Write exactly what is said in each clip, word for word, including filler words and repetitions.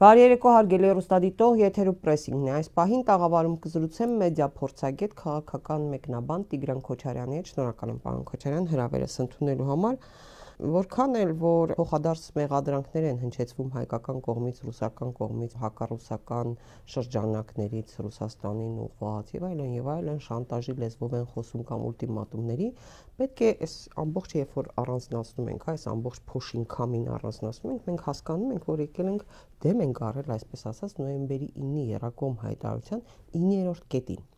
Բարի երեկո հարգելի հեռուստադիտող, եթերում պրեսինգն է։ Այս պահին տաղավարում կզրուցեմ մեդիա փորձագետ քաղաքական մեկնաբան Տիգրան Քոչարյանի հետ։ Շնորհակալ եմ պարոն Քոչարյան հրավերս ընդունելու համար։ Որքան էլ որ փոխադարձ մեղադրանքներ են հնչեցվում հայկական կողմից, ռուսական կողմից, հակառուսական շրջանակներից Ռուսաստանին ուղղված եւ այլն եւ այլն շանտաժի լեզվով են խոսում կամ ուլտիմատումների, պետք է այս ամբողջ երբ որ առանձնացնում ենք, այս ամբողջ փոշինքամին առանձնացնում ենք, մենք հասկանում ենք, որ եկել ենք դեմ ենք առել, այսպես ասած, նոյեմբերի ինի երակոմ հայտարարության իններորդ կետին։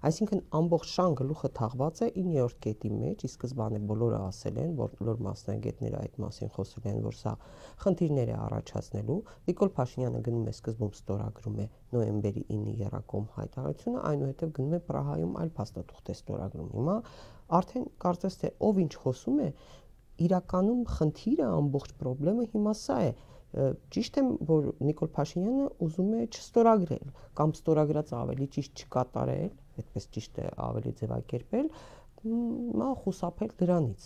Այսինքն ամբողջ շան գլուխը թաղված է իններորդ կետի մեջ, ի սկզբանե բոլորը ասել են, որ բոլոր մասնագետները այդ մասին խոսել են, որ սա խնդիրներ է առաջացնելու։ Նիկոլ Փաշինյանը գնում է սկզբում ստորագրում է նոյեմբերի ինի երակոմ հայտարարությունը, այնուհետև գնում է Պրահայում այլ փաստաթուղթ է ստորագրում։ Հիմա արդեն կարծես թե ով ինչ խոսում է, իրականում խնդիրը ամբողջ խնդրեմը հիմա սա է։ Ճիշտ է, որ Նիկոլ Փաշինյանը ուզում է չստորագրել կամ ստորագրած ավելի ճիշտ չկատարել, այդպես ճիշտ է ավելի ձևակերպել, մա խուսափել դրանից։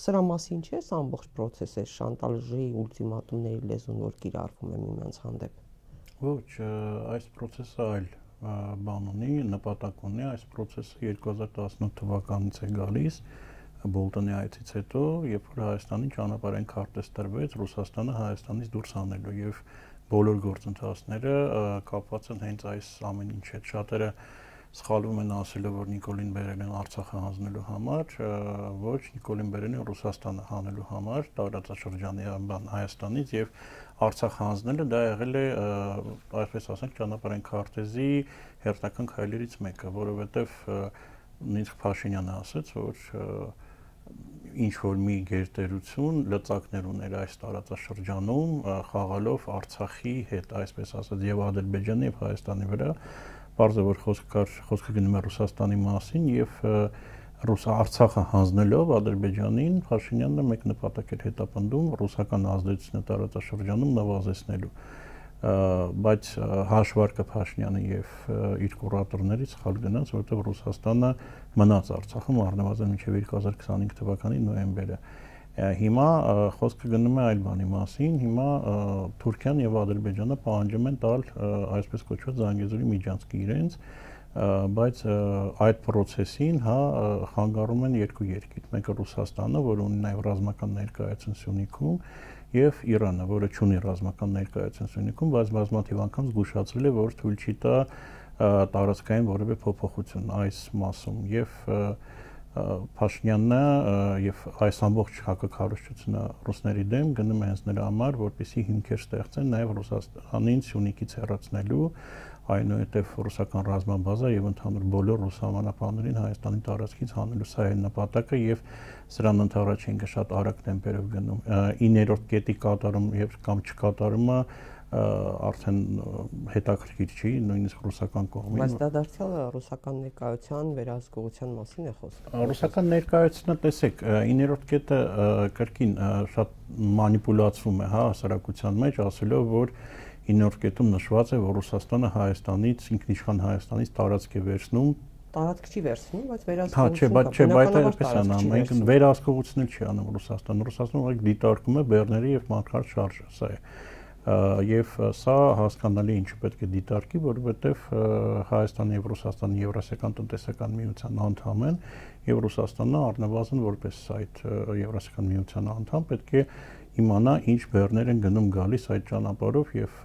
Սրա մասին չէ՞ սա ամբողջ process-ը, շանտաժի, ուլտիմատումների լեզուն, որ կիրառվում է միմյանց հանդեպ։ Ոչ, այս process-ը այլ բան ունի, նպատակ ունի, այս process-ը երկու հազար տասնութ թվականից է գալիս։ Բոլտոնի այցից հետո, երբ որ Հայաստանի ճանապարհային քարտեզ տրվեց, Ռուսաստանը Հայաստանից դուրս հանելու եւ բոլոր գործընթացները կապված են հենց այս ամեն ինչի հետ։ Շատերը սխալվում են ասելով, որ Նիկոլին բերել են Արցախը հանձնելու համար, ոչ, Նիկոլին բերել են Ռուսաստանը հանելու համար, տարածաշրջանի Հայաստանից եւ Արցախ հանձնելը դա եղել է, այսպես ասենք, ճանապարհային քարտեզի հերթական քայլերից մեկը, որովհետեւ նույնիսկ Փաշինյանը ասաց, որ ինչ որ մի գերտերություն լծակներ ուներ այս տարածաշրջանում խաղալով Արցախի հետ, այսպես ասած, եւ Ադրբեջանի եւ Հայաստանի վրա, բարձր որ խոսքը խոսքը գնում է Ռուսաստանի մասին եւ Ռուս Արցախը հանձնելով Ադրբեջանին, Փաշինյանը մեկ նպատակ էր հետապնդում ռուսական ազդեցությունը տարածաշրջանում նվազեցնելու, բայց հաշվարկը Փաշինյանը եւ իր կուրատորներից սխալ գնաց, որովհետեւ Ռուսաստանը մնաց Արցախում առնվազն մինչեւ երկու հազար քսանհինգ թվականի նոյեմբերը։ Հիմա խոսքը գնում է այլ բանի մասին, հիմա Թուրքիան եւ Ադրբեջանը պահանջում են տալ այսպես կոչված Զանգեզուրի միջանցքի իրենց, բայց այդ process-ին հա խանգարում են երկու երկիր, մեկը Ռուսաստանը, որը ունի նաեւ ռազմական ներկայություն Սյունիքում, եւ Իրանը, որը չունի ռազմական ներկայություն Սյունիքում, բայց բազմաթիվ անգամ զգուշացրել է, որ թույլ չի տա տարածքային որևէ փոփոխություն այս մասում եւ Փաշինյանը եւ այս ամբողջ հակակառուցությունը ռուսների դեմ գնում է հենց նրա համար, որպեսզի հիմքեր ստեղծեն նաեւ Ռուսաստանին Սյունիքից հեռացնելու, այնուհետև ռուսական ռազմաբազա եւ ընդհանուր բոլոր ռուսամանապաններին Հայաստանի տարածքից հանելու, սա է նպատակը եւ սրան ընդառաջ են շատ արագ տեմպերով գնում։ իններորդ կետի կատարում եւ կամ չկատարումը արդեն հետաքրքիր չի, նույնիսկ ռուսական կողմին։ Բայց դա դարձյալ ռուսական ներկայության վերահսկողության մասին է խոսքը։ Ռուսական ներկայությունը, տեսեք, իններորդ կետը կրկին շատ մանիպուլացվում է, հա, հասարակության մեջ, ասելով, որ իններորդ կետում նշված է, որ Ռուսաստանը Հայաստանից, ինքնիշխան Հայաստանից տարածք է վերցնում, տարածք չի վերցնում, բայց վերահսկողություն։ Հա, չէ, բայց չէ, բայց այդպես է անում, մենք վերահսկողություն չի անում Ռուսաստանը։ Ռուսաստանը ուղղակի դիտարկում է բեռների եւ մարտկարտ շարժը, սա է։ Եվ սա հասկանալի ինչու պետք է դիտարկի, որովհետև Հայաստանը եւ Ռուսաստանը Եվրասիական տնտեսական միության անդամ են եւ Ռուսաստանը առնվազն որպես այդ Եվրասիական միության անդամ պետք է իմանա ինչ բեռներ են գնում գալիս այդ ճանապարհով եւ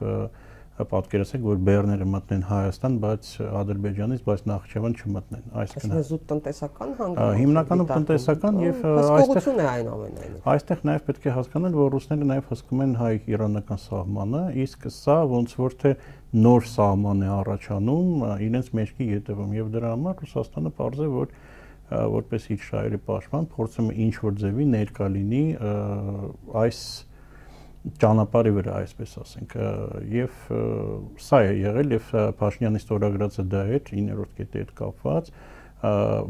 պատկերացեք, որ բեռները մտնեն Հայաստան, բայց Ադրբեջանից, բայց Նախիջևան չմտնեն։ Այսինքն զուտ տնտեսական հանգամանք։ Հիմնականում տնտեսական եւ այստեղ է այն ամենայնիվ։ Այստեղ նաեւ պետք է հասկանալ, որ ռուսները նաեւ հսկում են հայ-իրանական սահմանը, իսկ սա ոնց որ թե նոր սահման է առաջանում իրենց մեջքի ետևում եւ դրա համար Ռուսաստանը պարզ է, որ որպես իր շահերի պաշտպան փորձում է ինչ որ ձևի ներկա լինի այս ճանապարհի վրա, այսպես ասենք, եւ սա է եղել եւ Փաշինյանի ստորագրածը դա էր իններորդ կետի հետ կապված,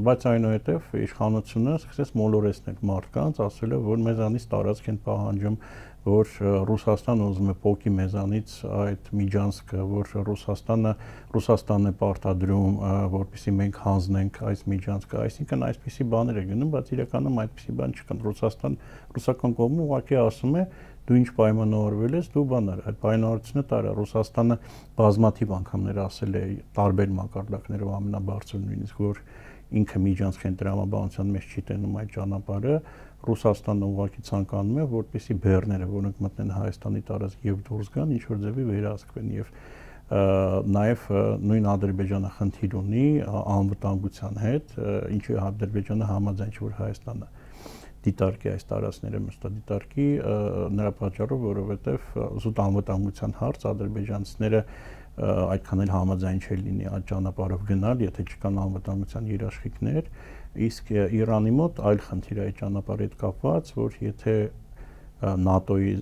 բայց այնուհետև իշխանությունը սկսեց մոլորեցնել մարդկանց, ասելով, որ մեզանից տարածք են պահանջում, որ Ռուսաստանը ուզում է փոկի մեզանից այդ միջանցքը, որ Ռուսաստանը Ռուսաստանն է պարտադրում, որպեսզի մենք հանձնենք այս միջանցքը, այսինքն այսպիսի բաներ է գնում, բայց իրականում այդպիսի բան չկա։ Ռուսաստան ռուսական կողմը ուղղակի ասում է, դու ինչ պայմանավորվել ես, դու բանար, այդ պայմանավորությունը տարա Ռուսաստանը բազմաթիվ անգամներ ասել է տարբեր մակարդակներով ամենաբարձրն նույնիսկ որ ինքը միջանցքային տրամաբանության մեջ չի տենում այդ ճանապարհը, Ռուսաստանը ուղղակի ցանկանում է, որպեսզի բեռները, որոնք մտնեն Հայաստանի տարածք եւ դուրս գան, ինչ որ ձևի վերահսկվեն եւ նաև նույն Ադրբեջանը խնդիր ունի անվտանգության հետ, ինչի Ադրբեջանը համաձայն չէ որ Հայաստանը դիտարկի այս տարածքները մշտադիտարկի նրա պատճառով, որովհետև զուտ անվտանգության հարց ադրբեջանցիները այդքան էլ համաձայն չէ լինի այդ ճանապարհով գնալ, եթե չկան անվտանգության երաշխիքներ, իսկ Իրանի մոտ այլ խնդիր է այդ ճանապարհի հետ կապված, որ եթե ՆԱՏՕ-ի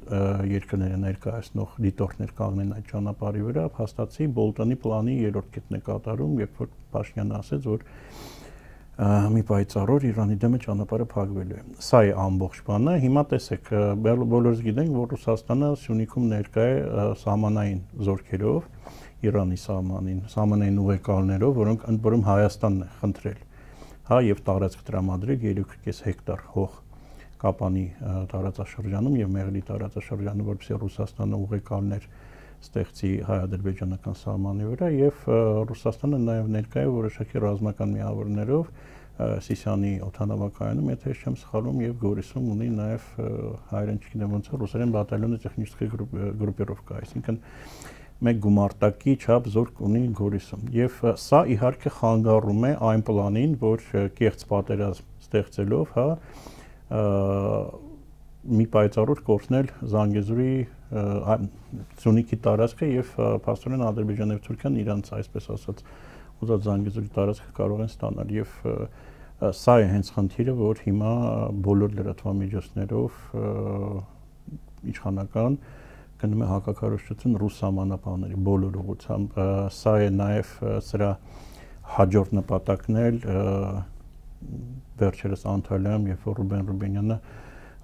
երկրները ներկայացնող դիտորդներ կանգնեն այդ ճանապարհի վրա, հաստատի Բոլտոնի պլանի երրորդ կետն է կատարում, երբ որ Փաշինյանը ասեց, որ մի պայծառ Իրանի դեմ ճանապարհը փակվելու է։ Սա է ամբողջ բանը։ Հիմա տեսեք, բոլորս գիտենք, որ Ռուսաստանը Սյունիքում ներկա է սահմանային զորքերով, Իրանի սահմանին, սահմանային ուղեկալներով, որոնք ընդ որում Հայաստանն է խնդրել, հա, եւ տարածք տրամադրել երեք կես հեկտար հող Կապանի տարածաշրջանում եւ Մեղրի տարածաշրջանում, որպեսզի Ռուսաստանը ուղեկալներ ստեղծի հայ-ադրբեջանական սահմանի վրա եւ Ռուսաստանը նաեւ ներկա է որոշակի ռազմական միավորներով Սիսիանի օդանավակայանում, եթե ես չեմ սխալվում, եւ Գորիսում ունի նաեւ հայերեն չգիտեմ ոնց է ռուսերեն բատալյոնի տեխնիկայի գրուպիրովկա, այսինքն մեկ գումարտակի չափ զորք ունի Գորիսում եւ սա իհարկե խանգարում է այն պլանին, որ կեղծ պատերազմ ստեղծելով, հա, մի պայծառ կորցնել Զանգեզուրի Սյունիքի տարածքը եւ փաստորեն Ադրբեջանն եւ Թուրքիան իրանց այսպես ասած ուզած Զանգեզուրի տարածքը կարող են ստանալ եւ սա է հենց խնդիրը, որ հիմա բոլոր լրատվամիջոցներով իշխանական գնում է հակակարողություն ռուս սահմանապահների բոլոր ուղղությամբ, սա է նաեւ սրա հաջորդ նպատակն էլ վերջերս Անտալիայում, երբ որ Ռուբեն Ռուբենյանը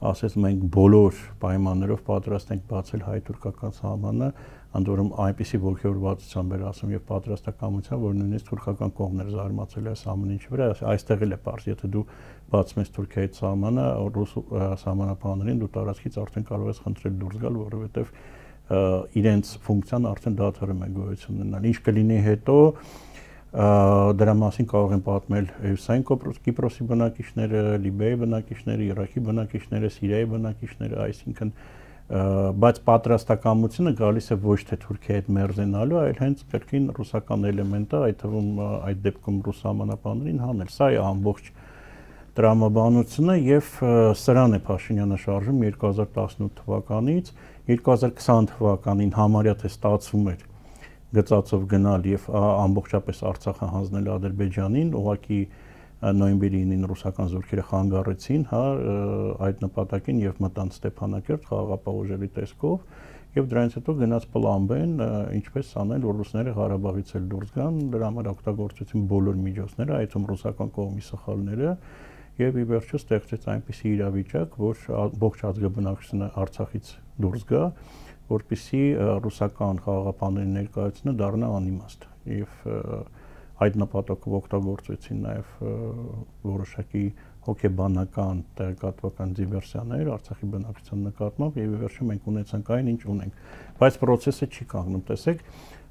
ասես մենք բոլոր պայմաններով պատրաստ ենք բացել հայ-թուրքական սահմանը, ընդ որում այնպիսի ողջորվածությամբ էր ասում եւ պատրաստակամությամբ, որ նույնիսկ թուրքական կողմն էր զարմացել այս ամեն ինչի վրա, այստեղ էլ է պարզ, եթե դու բացում ես Թուրքիայի սահմանը, ռուս սահմանապահներին դու տարածքից արդեն կարող ես խնդրել դուրս գալ, որովհետեւ իրենց ֆունկցիան արդեն դադարում է գոյություն ունենալ։ Ինչ կլինի հետո դրա մասին կարող են պատմել Հյուսային Կիպրոսի բնակիչները, Լիբիայի բնակիչները, Իրաքի բնակիչները, Սիրիայի բնակիչները, այսինքն բայց պատրաստակամությունը գալիս է ոչ թե Թուրքիայի հետ մերձենալու, այլ հենց կրկին ռուսական էլեմենտը, այդ թվում այդ դեպքում ռուս սահմանապահներին հանել։ Սա է ամբողջ տրամաբանությունը եւ սրան է Փաշինյանը շարժում երկու հազար տասնութ թվականից, երկու հազար քսան թվականին համարյա թե ստացվում էր գծածով գնալ եւ ամբողջապես Արցախը հանձնել Ադրբեջանին, ուղղակի նոյեմբերի ինին ռուսական զորքերը խանգարեցին, հա, այդ նպատակին եւ մտան Ստեփանակերտ խաղաղապահ ուժերի տեսքով եւ դրանից հետո գնաց պլան B-ն, ինչպես անել, որ ռուսները Ղարաբաղից էլ դուրս գան, դրա համար օգտագործեցին բոլոր միջոցները, այդ թվում ռուսական կողմի սխալները եւ ի վերջո ստեղծեց այնպիսի իրավիճակ, որ ողջ ազգաբնակչությունը Արցախից դուրս գա, որպեսզի ռուսական խաղաղապահների ներկայությունը դառնա անիմաստ եւ այդ նպատակով օգտագործեցին նաեւ որոշակի հոգեբանական տեղեկատվական դիվերսիաներ Արցախի բնակչության նկատմամբ եւ ի վերջո մենք ունեցանք այն ինչ ունենք, բայց process-ը չի կանգնում, տեսեք,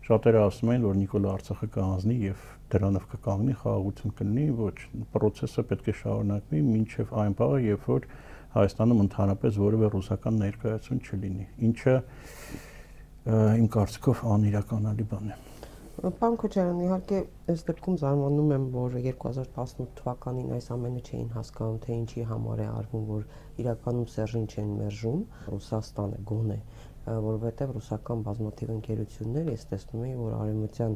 շատերը ասում են, որ Նիկոլա Արցախը կհանձնի եւ դրանով կկանգնի, խաղաղություն կլինի, ոչ, process-ը պետք է շարունակվի մինչեւ այն բանը, երբ որ Հայաստանում ընդհանրապես որևէ ռուսական ներկայացում չլինի, ինչը իմ կարծիքով անիրականալի բան է։ Պարոն Քոչարյան, իհարկե այս դեպքում զարմանում եմ, որ երկու հազար տասնութ թվականին այս ամենը չէին հասկանում, թե ինչի համար է արվում, որ իրականում Սերժին չեն մերժում, Ռուսաստանը գոնե, որովհետև ռուսական բազմաթիվ ընկերություններ, ես տեսնում եմ, որ արևմտյան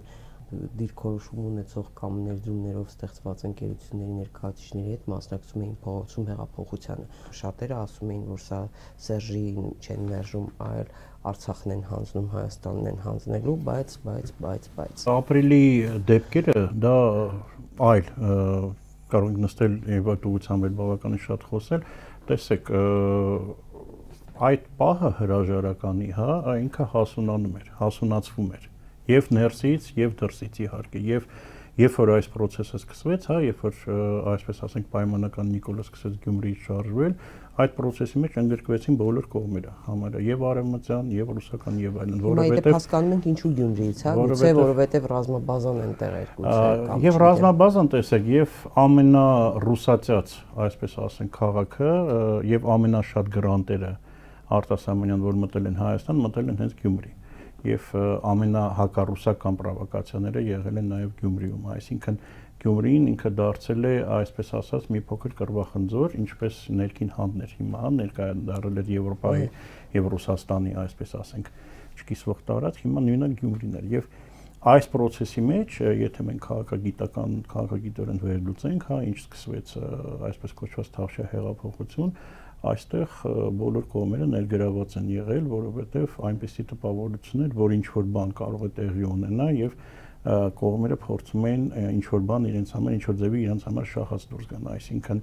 դիրքորոշում ունեցող կամ ներդրումներով ստեղծված ընկերությունների ներկայացուցիչների հետ մասնակցում էին փողոցում հեղափոխությանը։ Շատերը ասում էին, որ սա Սերժին չեն մերժում, այլ Արցախն են հանձնում, Հայաստանն են հանձնելու, բայց, բայց, բայց, բայց։ Ապրիլի դեպքերը դա այլ կարող ենք նստել եւ այդ ուղղությամբ էլ բավականին շատ խոսել, տեսեք, այդ պահը հրաժարականի, հա, ինքը հասունանում էր, հասունացվում էր եւ ներսից եւ դրսից իհարկե եւ երբ որ այս process-ը սկսվեց, հա, երբ որ այսպես ասենք պայմանական Նիկոլը սկսեց Գյումրիից շարժվել, այդ process-ի մեջ ընդգրկվեցին բոլոր կողմերը, համարը եւ արևմտյան, եւ ռուսական, եւ այլն, որովհետեւ հասկանում ենք ինչու Գյումրիից, հա, գուցե որովհետեւ ռազմաբազան ընտեղ էր, գուցե եւ ռազմաբազան տեսեք, եւ ամենառուսացած, այսպես ասենք, քաղաքը եւ ամենաշատ գրանտերը արտասահմանյան, որ մտել են Հայաստան, մտել են հենց Գյումրի։ Եվ ամենահակառուսական պրովոկացիաները եղել են նաև Գյումրիում, այսինքն Գյումրին ինքը դարձել է, այսպես ասած, մի փոքր կռվախնձոր, ինչպես ներքին հանդներ հիմա ներկայացրել էր Եվրոպայի եւ Ռուսաստանի, այսպես ասենք, չկիսվող տարածք, հիմա նույնը Գյումրին էր եւ այս process-ի մեջ, եթե մենք քաղաքագիտական, քաղաքագիտորեն վերլուծենք, հա, ինչ սկսվեց այսպես կոչված Թավշյա հեղափոխություն, այստեղ բոլոր կողմերը ներգրաված են եղել, որովհետև այնպեսի տպավորություն էր, որ ինչ որ բան կարող է տեղի ունենա եւ կողմերը փորձում են ինչ որ բան իրենց համար, ինչ որ ձևի իրենց համար շահած դուրս գան, այսինքն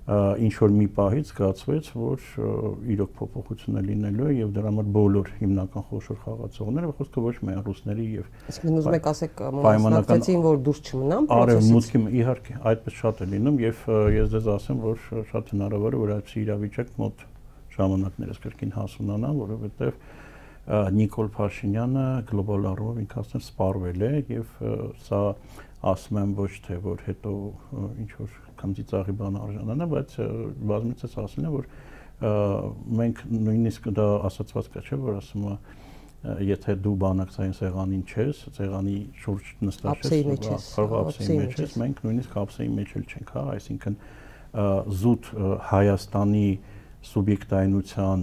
ինչ որ մի պահից զգացվեց, որ իրոք փոփոխություն է լինելու եւ դրա համար բոլոր հիմնական խոշոր խաղացողները, խոսքը ոչ միայն ռուսների եւ Իսկ ուզում եք ասեք մասնակցեցին, որ դուրս չմնան process-ից։ Արևմուտքի իհարկե այդպես շատ է լինում եւ ես դες ասեմ, որ շատ հնարավոր է, որ այդպիսի իրավիճակ մոտ ժամանակներս կրկին հասունանա, որովհետեւ Նիկոլ Փաշինյանը գլոբալ առումով ինքը ասեմ սպառվել է եւ սա ասում եմ ոչ թե որ հետո ինչ որ կամ ծիծաղի բան արժանանա, բայց բազմիցս ասել են, որ մենք նույնիսկ դա ասացված կա, չէ, որ ասում է եթե դու բանակցային սեղանին չես, սեղանի շուրջ նստած ես, կարող ափսեի մեջ ես, մենք նույնիսկ ափսեի մեջ էլ չենք, հա, այսինքն զուտ Հայաստանի սուբյեկտայնության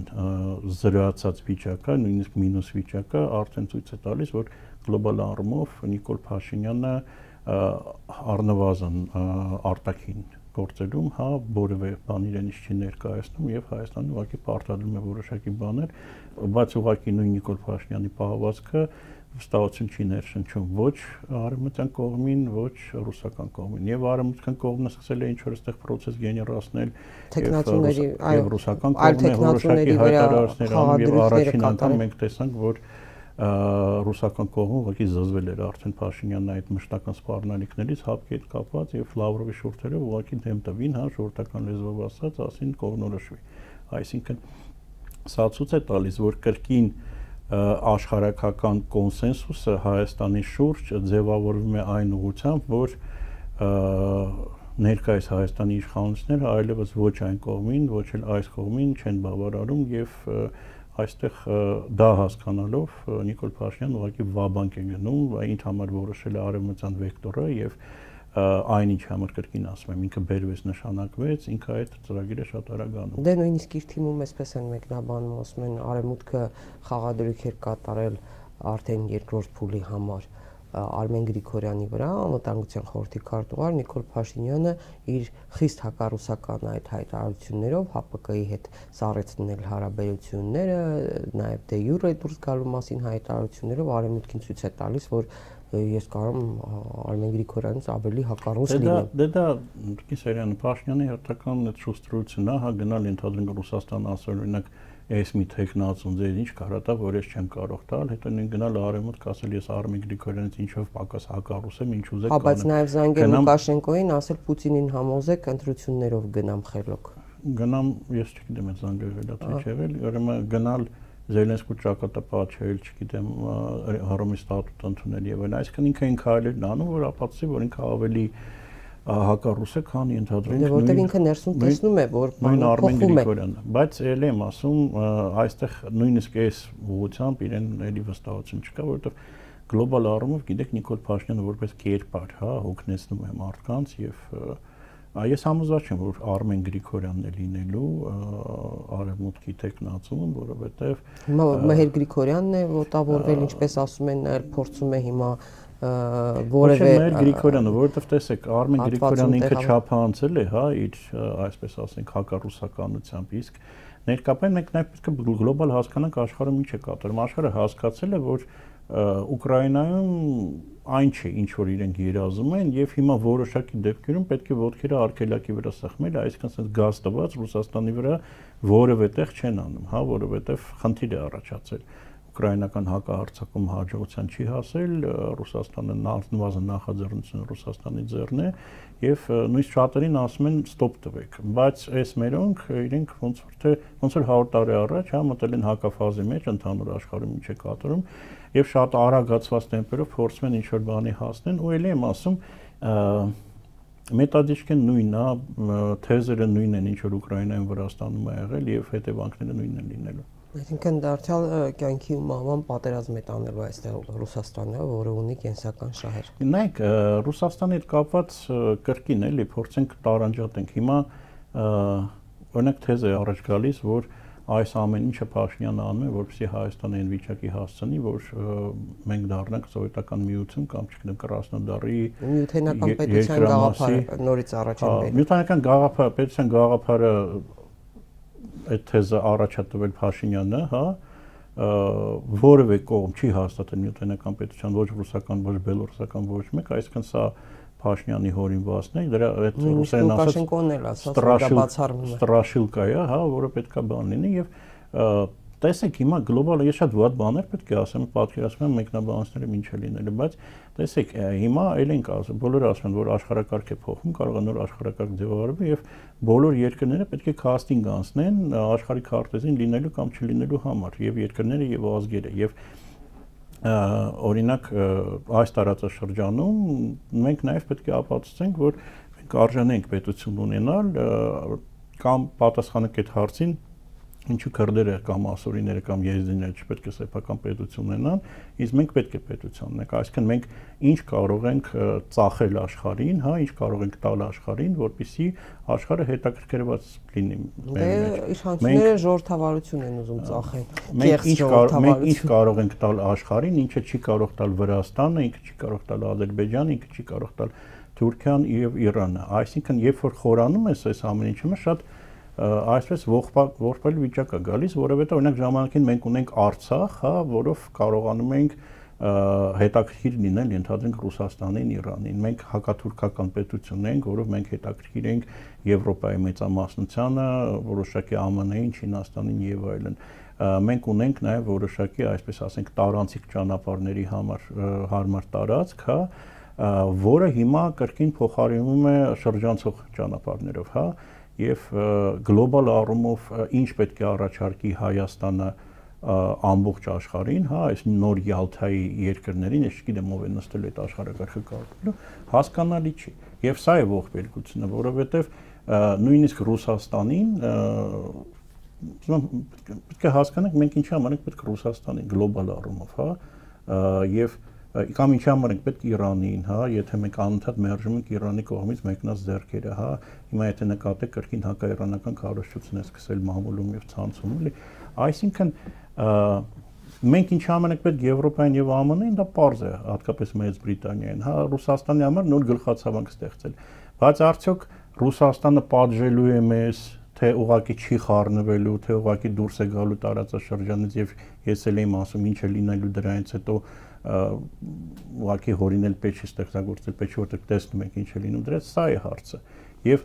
զրոյացած վիճակը, նույնիսկ մինուս վիճակը արդեն ցույց է տալիս, որ գլոբալ առումով Նիկոլ Փաշինյանը առնվազն արտաքին գործերում, հա, որևէ բան իրենից չի ներկայացնում եւ Հայաստանը ուղղակի պարտադրում է որոշակի բաներ, բայց ուղղակի նույն Նիկոլ Փաշինյանի պահվածքը վստահություն չի ներշնչում ոչ արևմտյան կողմին, ոչ ռուսական կողմին։ Եվ արևմտյան կողմը սկսել է ինչ-որ այդտեղ process գեներացնել տեխնացուների, այո, ռուսական կողմը որոշակի հայտարարություններ անում եւ առաջին անգամ մենք տեսանք, որ ռուսական կողմը ուղղակի զզվել էր արդեն Փաշինյանը այդ մշտական սպառնալիքներից հապկի հետ կապված եւ Լավրովի շուրթերը ուղղակի դեմ տվին, հա, ժողովրդական լեզվով ասած, ասին կողմնորոշվի։ Այսինքն սա ցույց է տալիս, որ կրկին աշխարհակական կոնսենսուսը Հայաստանի շուրջ ձևավորվում է այն ուղղությամբ, որ ներկայիս Հայաստանի իշխանությունները այլևս ոչ այն կողմին, ոչ էլ այս կողմին չեն բավարարում եւ այստեղ դա հասկանալով Նիկոլ Փաշինյանը ուղղակի վաբանկ է գնում, ինձ համար որոշել է արևմտյան վեկտորը եւ այն ինչ համար կրկին ասում եմ, ինքը բերվեց, նշանակվեց, ինքը այդ ծրագիրը շատ արագ անում։ Դե նույնիսկ իր թիմում էսպես են մեկնաբանում, ասում են արևմուտքը խաղադրույք էր կատարել արդեն երկրորդ փուլի համար Արմեն Գրիգորյանի վրա, անվտանգության խորհրդի քարտուղար Նիկոլ Փաշինյանը իր խիստ հակառուսական այդ հայտարարություններով Հ Պ Կ-ի հետ սառեցնել հարաբերությունները, նաև դե յուրե դուրս գալու մասին հայտարարություններով արևմուտքին ցույց է տալիս, որ ես կարող եմ Արմեն Գրիգորյանից ավելի հակառուս լինեմ։ Դե դա Կիսարյանը Փաշինյանի հերթական այդ շուստրությունն է, հա, գնալ ընդհանրեն Ռուսաստան ասել օրինակ ես մի տեխնացուն ձեր ինչ կարա որ ես չեմ կարող տալ, հետո նույն գնալ արևմուտք ասել ես Արմեն Գրիգորյանից ինչով պակաս հակառուս եմ, ինչ ուզեք կանեմ։ Հա, բայց նաև զանգել Լուկաշենկոին, ասել Պուտինին համոզեք ընտրություններով գնամ խելոք։ Գնամ, ես չգիտեմ այդ զանգը վերադարձ եղել, ուրեմն գնալ Զելենսկու ճակատապահել, չգիտեմ, Հռոմի ստատուտ ընդունել եւ այլն, այսինքն ինքը ինքը այլն անում, որ ապացուցի, որ ինքը ավելի հակառուս է, քան ընդհանրենք նույն որտեղ ինքը ներսում տեսնում է, որ նույն Արմեն Գրիգորյանը, բայց ելի եմ ասում, այստեղ նույնիսկ այս ուղղությամբ իրեն էլի վստահություն չկա, որովհետեւ գլոբալ առումով գիտեք Նիկոլ Փաշինյանը որպես կերպար, հա, հոգնեցնում է մարդկանց եւ ես համոզված եմ, որ Արմեն Գրիգորյանն է լինելու արևմուտքի տեխնացուն, որովհետեւ հիմա Մհեր Գրիգորյանն է ոտավորվել, ինչպես ասում են, փորձում է հիմա որևէ Մհեր Գրիգորյանը, որովհետեւ տեսեք, Արմեն Գրիգորյանը ինքը չափանցել է, հա, իր այսպես ասենք հակառուսականությամբ, իսկ ներկայապես մենք նաև պետք է գլոբալ հասկանանք աշխարհում ինչ է կատարում։ Աշխարհը հասկացել է, որ Ուկրաինայում այն չէ, ինչ որ իրենք երազում են, եւ հիմա որոշակի դեպքերում պետք է ոտքերը արգելակի վրա սեղմել, այսինքն ասած գազ տված Ռուսաստանի վրա որևէ տեղ չեն անում, հա, որովհետեւ խնդիր է առաջացել։ ուկրաինական հակահարձակում հաջողության չի հասել, Ռուսաստանը նվազն նախաձեռնությունը Ռուսաստանի ձեռն է եւ նույնիսկ շատերին ասում են ստոպ տվեք, բայց այս մերոնք իրենք ոնց որ թե ոնց որ հարյուր տարի առաջ հա մտել են հակաֆազի մեջ ընդհանուր աշխարհում ինչ է կատարում եւ շատ արագացված տեմպերով փորձում են ինչ որ բանի հասնեն ու ելի եմ ասում մետադիչքեն նույնն է, թեզերը նույնն են, ինչ որ Ուկրաինայում Վրաստանում է եղել եւ հետևանքները նույնն են լինելու։ Այսինքն դարձյալ կյանքի ու մահվան պատերազմ է տանելու այստեղ Ռուսաստանը, որը ունի կենսական շահեր։ Նայեք, Ռուսաստանի հետ կապված կրկին էլի փորձենք տարանջատենք։ Հիմա օրինակ թեզ է առաջ գալիս, որ այս ամեն ինչը Փաշինյանը անում է, որպեսզի Հայաստանը այն վիճակի հասցնի, որ մենք դառնանք սովետական միություն կամ չգիտեմ Կրասնոդարի միութենական պետության գաղափարը նորից առաջին։ Միութենական գաղափարը, պետության գաղափարը այդ թեզը առաջ է տվել Փաշինյանը, հա, որևէ կողմ չի հաստատել միութենական պետության ոչ ռուսական, ոչ բելոռուսական ոչ մեկ, այսինքն սա Փաշինյանի հորինվածն է, դրա այդ ռուսերեն ասած ստրաշիլկա է, հա, որը պետքա բան լինի եւ տեսեք հիմա գլոբալ ես շատ վատ բաներ պետք է ասեմ, պատկերացնում եմ մեկնաբանությունները ինչ է լինելու, բայց տեսեք հիմա ել ենք ասում, բոլորը ասում են, որ աշխարհակարգ է փոխվում, կարող է նոր աշխարհակարգ ձևավորվի եւ բոլոր երկրները պետք է կաստինգ անցնեն աշխարհի քարտեզին լինելու կամ չլինելու համար եւ երկրները եւ ազգերը եւ օրինակ այս տարածաշրջանում մենք նաև պետք է ապացուցենք, որ մենք արժանենք պետություն ունենալ կամ պատասխանենք այդ հարցին, ինչու քրդերը կամ ասորիները կամ եզդիները չպետք է սեփական պետություն ունենան, իսկ մենք պետք է պետություն ունենք, այսինքն մենք ինչ կարող ենք ծախել աշխարհին, հա, ինչ կարող ենք տալ աշխարհին, որպեսզի աշխարհը հետաքրքրված լինի մեր մեջ։ Իշխանությունները ժողովրդավարություն են ուզում ծախել։ Մենք ինչ կարող մենք ինչ կարող ենք տալ աշխարհին, ինչը չի կարող տալ Վրաստանը, ինքը չի կարող տալ Ադրբեջանը, ինքը չի կարող տալ Թուրքիան եւ Իրանը։ Այսինքն, երբ որ խորանում ես այս ամեն ինչը, շատ այսպես ողբալ վիճակ է գալիս, որովհետեւ օրինակ ժամանակին մենք ունենք Արցախ, հա, որով կարողանում ենք հետաքրքիր լինել, ենթադրենք Ռուսաստանին, Իրանին։ Մենք հակաթուրքական պետություն ենք, որով մենք հետաքրքիր ենք Եվրոպայի մեծամասնությանը, որոշակի Α M N-ին, Չինաստանին եւ այլն։ Մենք ունենք նաեւ որոշակի, այսպես ասենք, տարանցիկ ճանապարհների համար հարմար տարածք, հա, որը հիմա կրկին փոխարինվում է շրջանցող ճանապարհներով, հա, եւ գլոբալ առումով ինչ պետք է առաջարկի Հայաստանը ամբողջ աշխարհին, հա, այս նոր Յալթայի երկրներին, ես չգիտեմ ով է նստել այդ աշխարհակարգը կարգելու, հասկանալի չի։ Եվ սա է ողբերգությունը, որովհետեւ նույնիսկ Ռուսաստանին պետք է հասկանանք մենք ինչի համար ենք պետք է Ռուսաստանին գլոբալ առումով, հա, եւ կամ ինչի համար ենք պետք Իրանին, հա, եթե մենք անընդհատ մերժում ենք Իրանի կողմից մեկնած ձեռքերը, հա, հիմա եթե նկատեք կրկին հակաիրանական քարոզչություն է սկսել մամուլում եւ ցանցում, էլի, այսինքն մենք ինչի համար ենք պետք Եվրոպային եւ Α M N-ին, դա պարզ է, հատկապես Մեծ Բրիտանիային, հա, Ռուսաստանի համար նոր գլխացավանք ստեղծել, բայց արդյոք Ռուսաստանը պատժելու է մեզ, թե ուղղակի չի խառնվելու, թե ուղղակի դուրս է գալու տարածաշրջանից եւ ես էլ եմ ասում ինչ է լինելու դրանից հետո ուղղակի հորինել պետք է ստեղծագործել, պետք է որտեղ տեսնում եք ինչ է լինում դրանից, սա է հարցը։ Եվ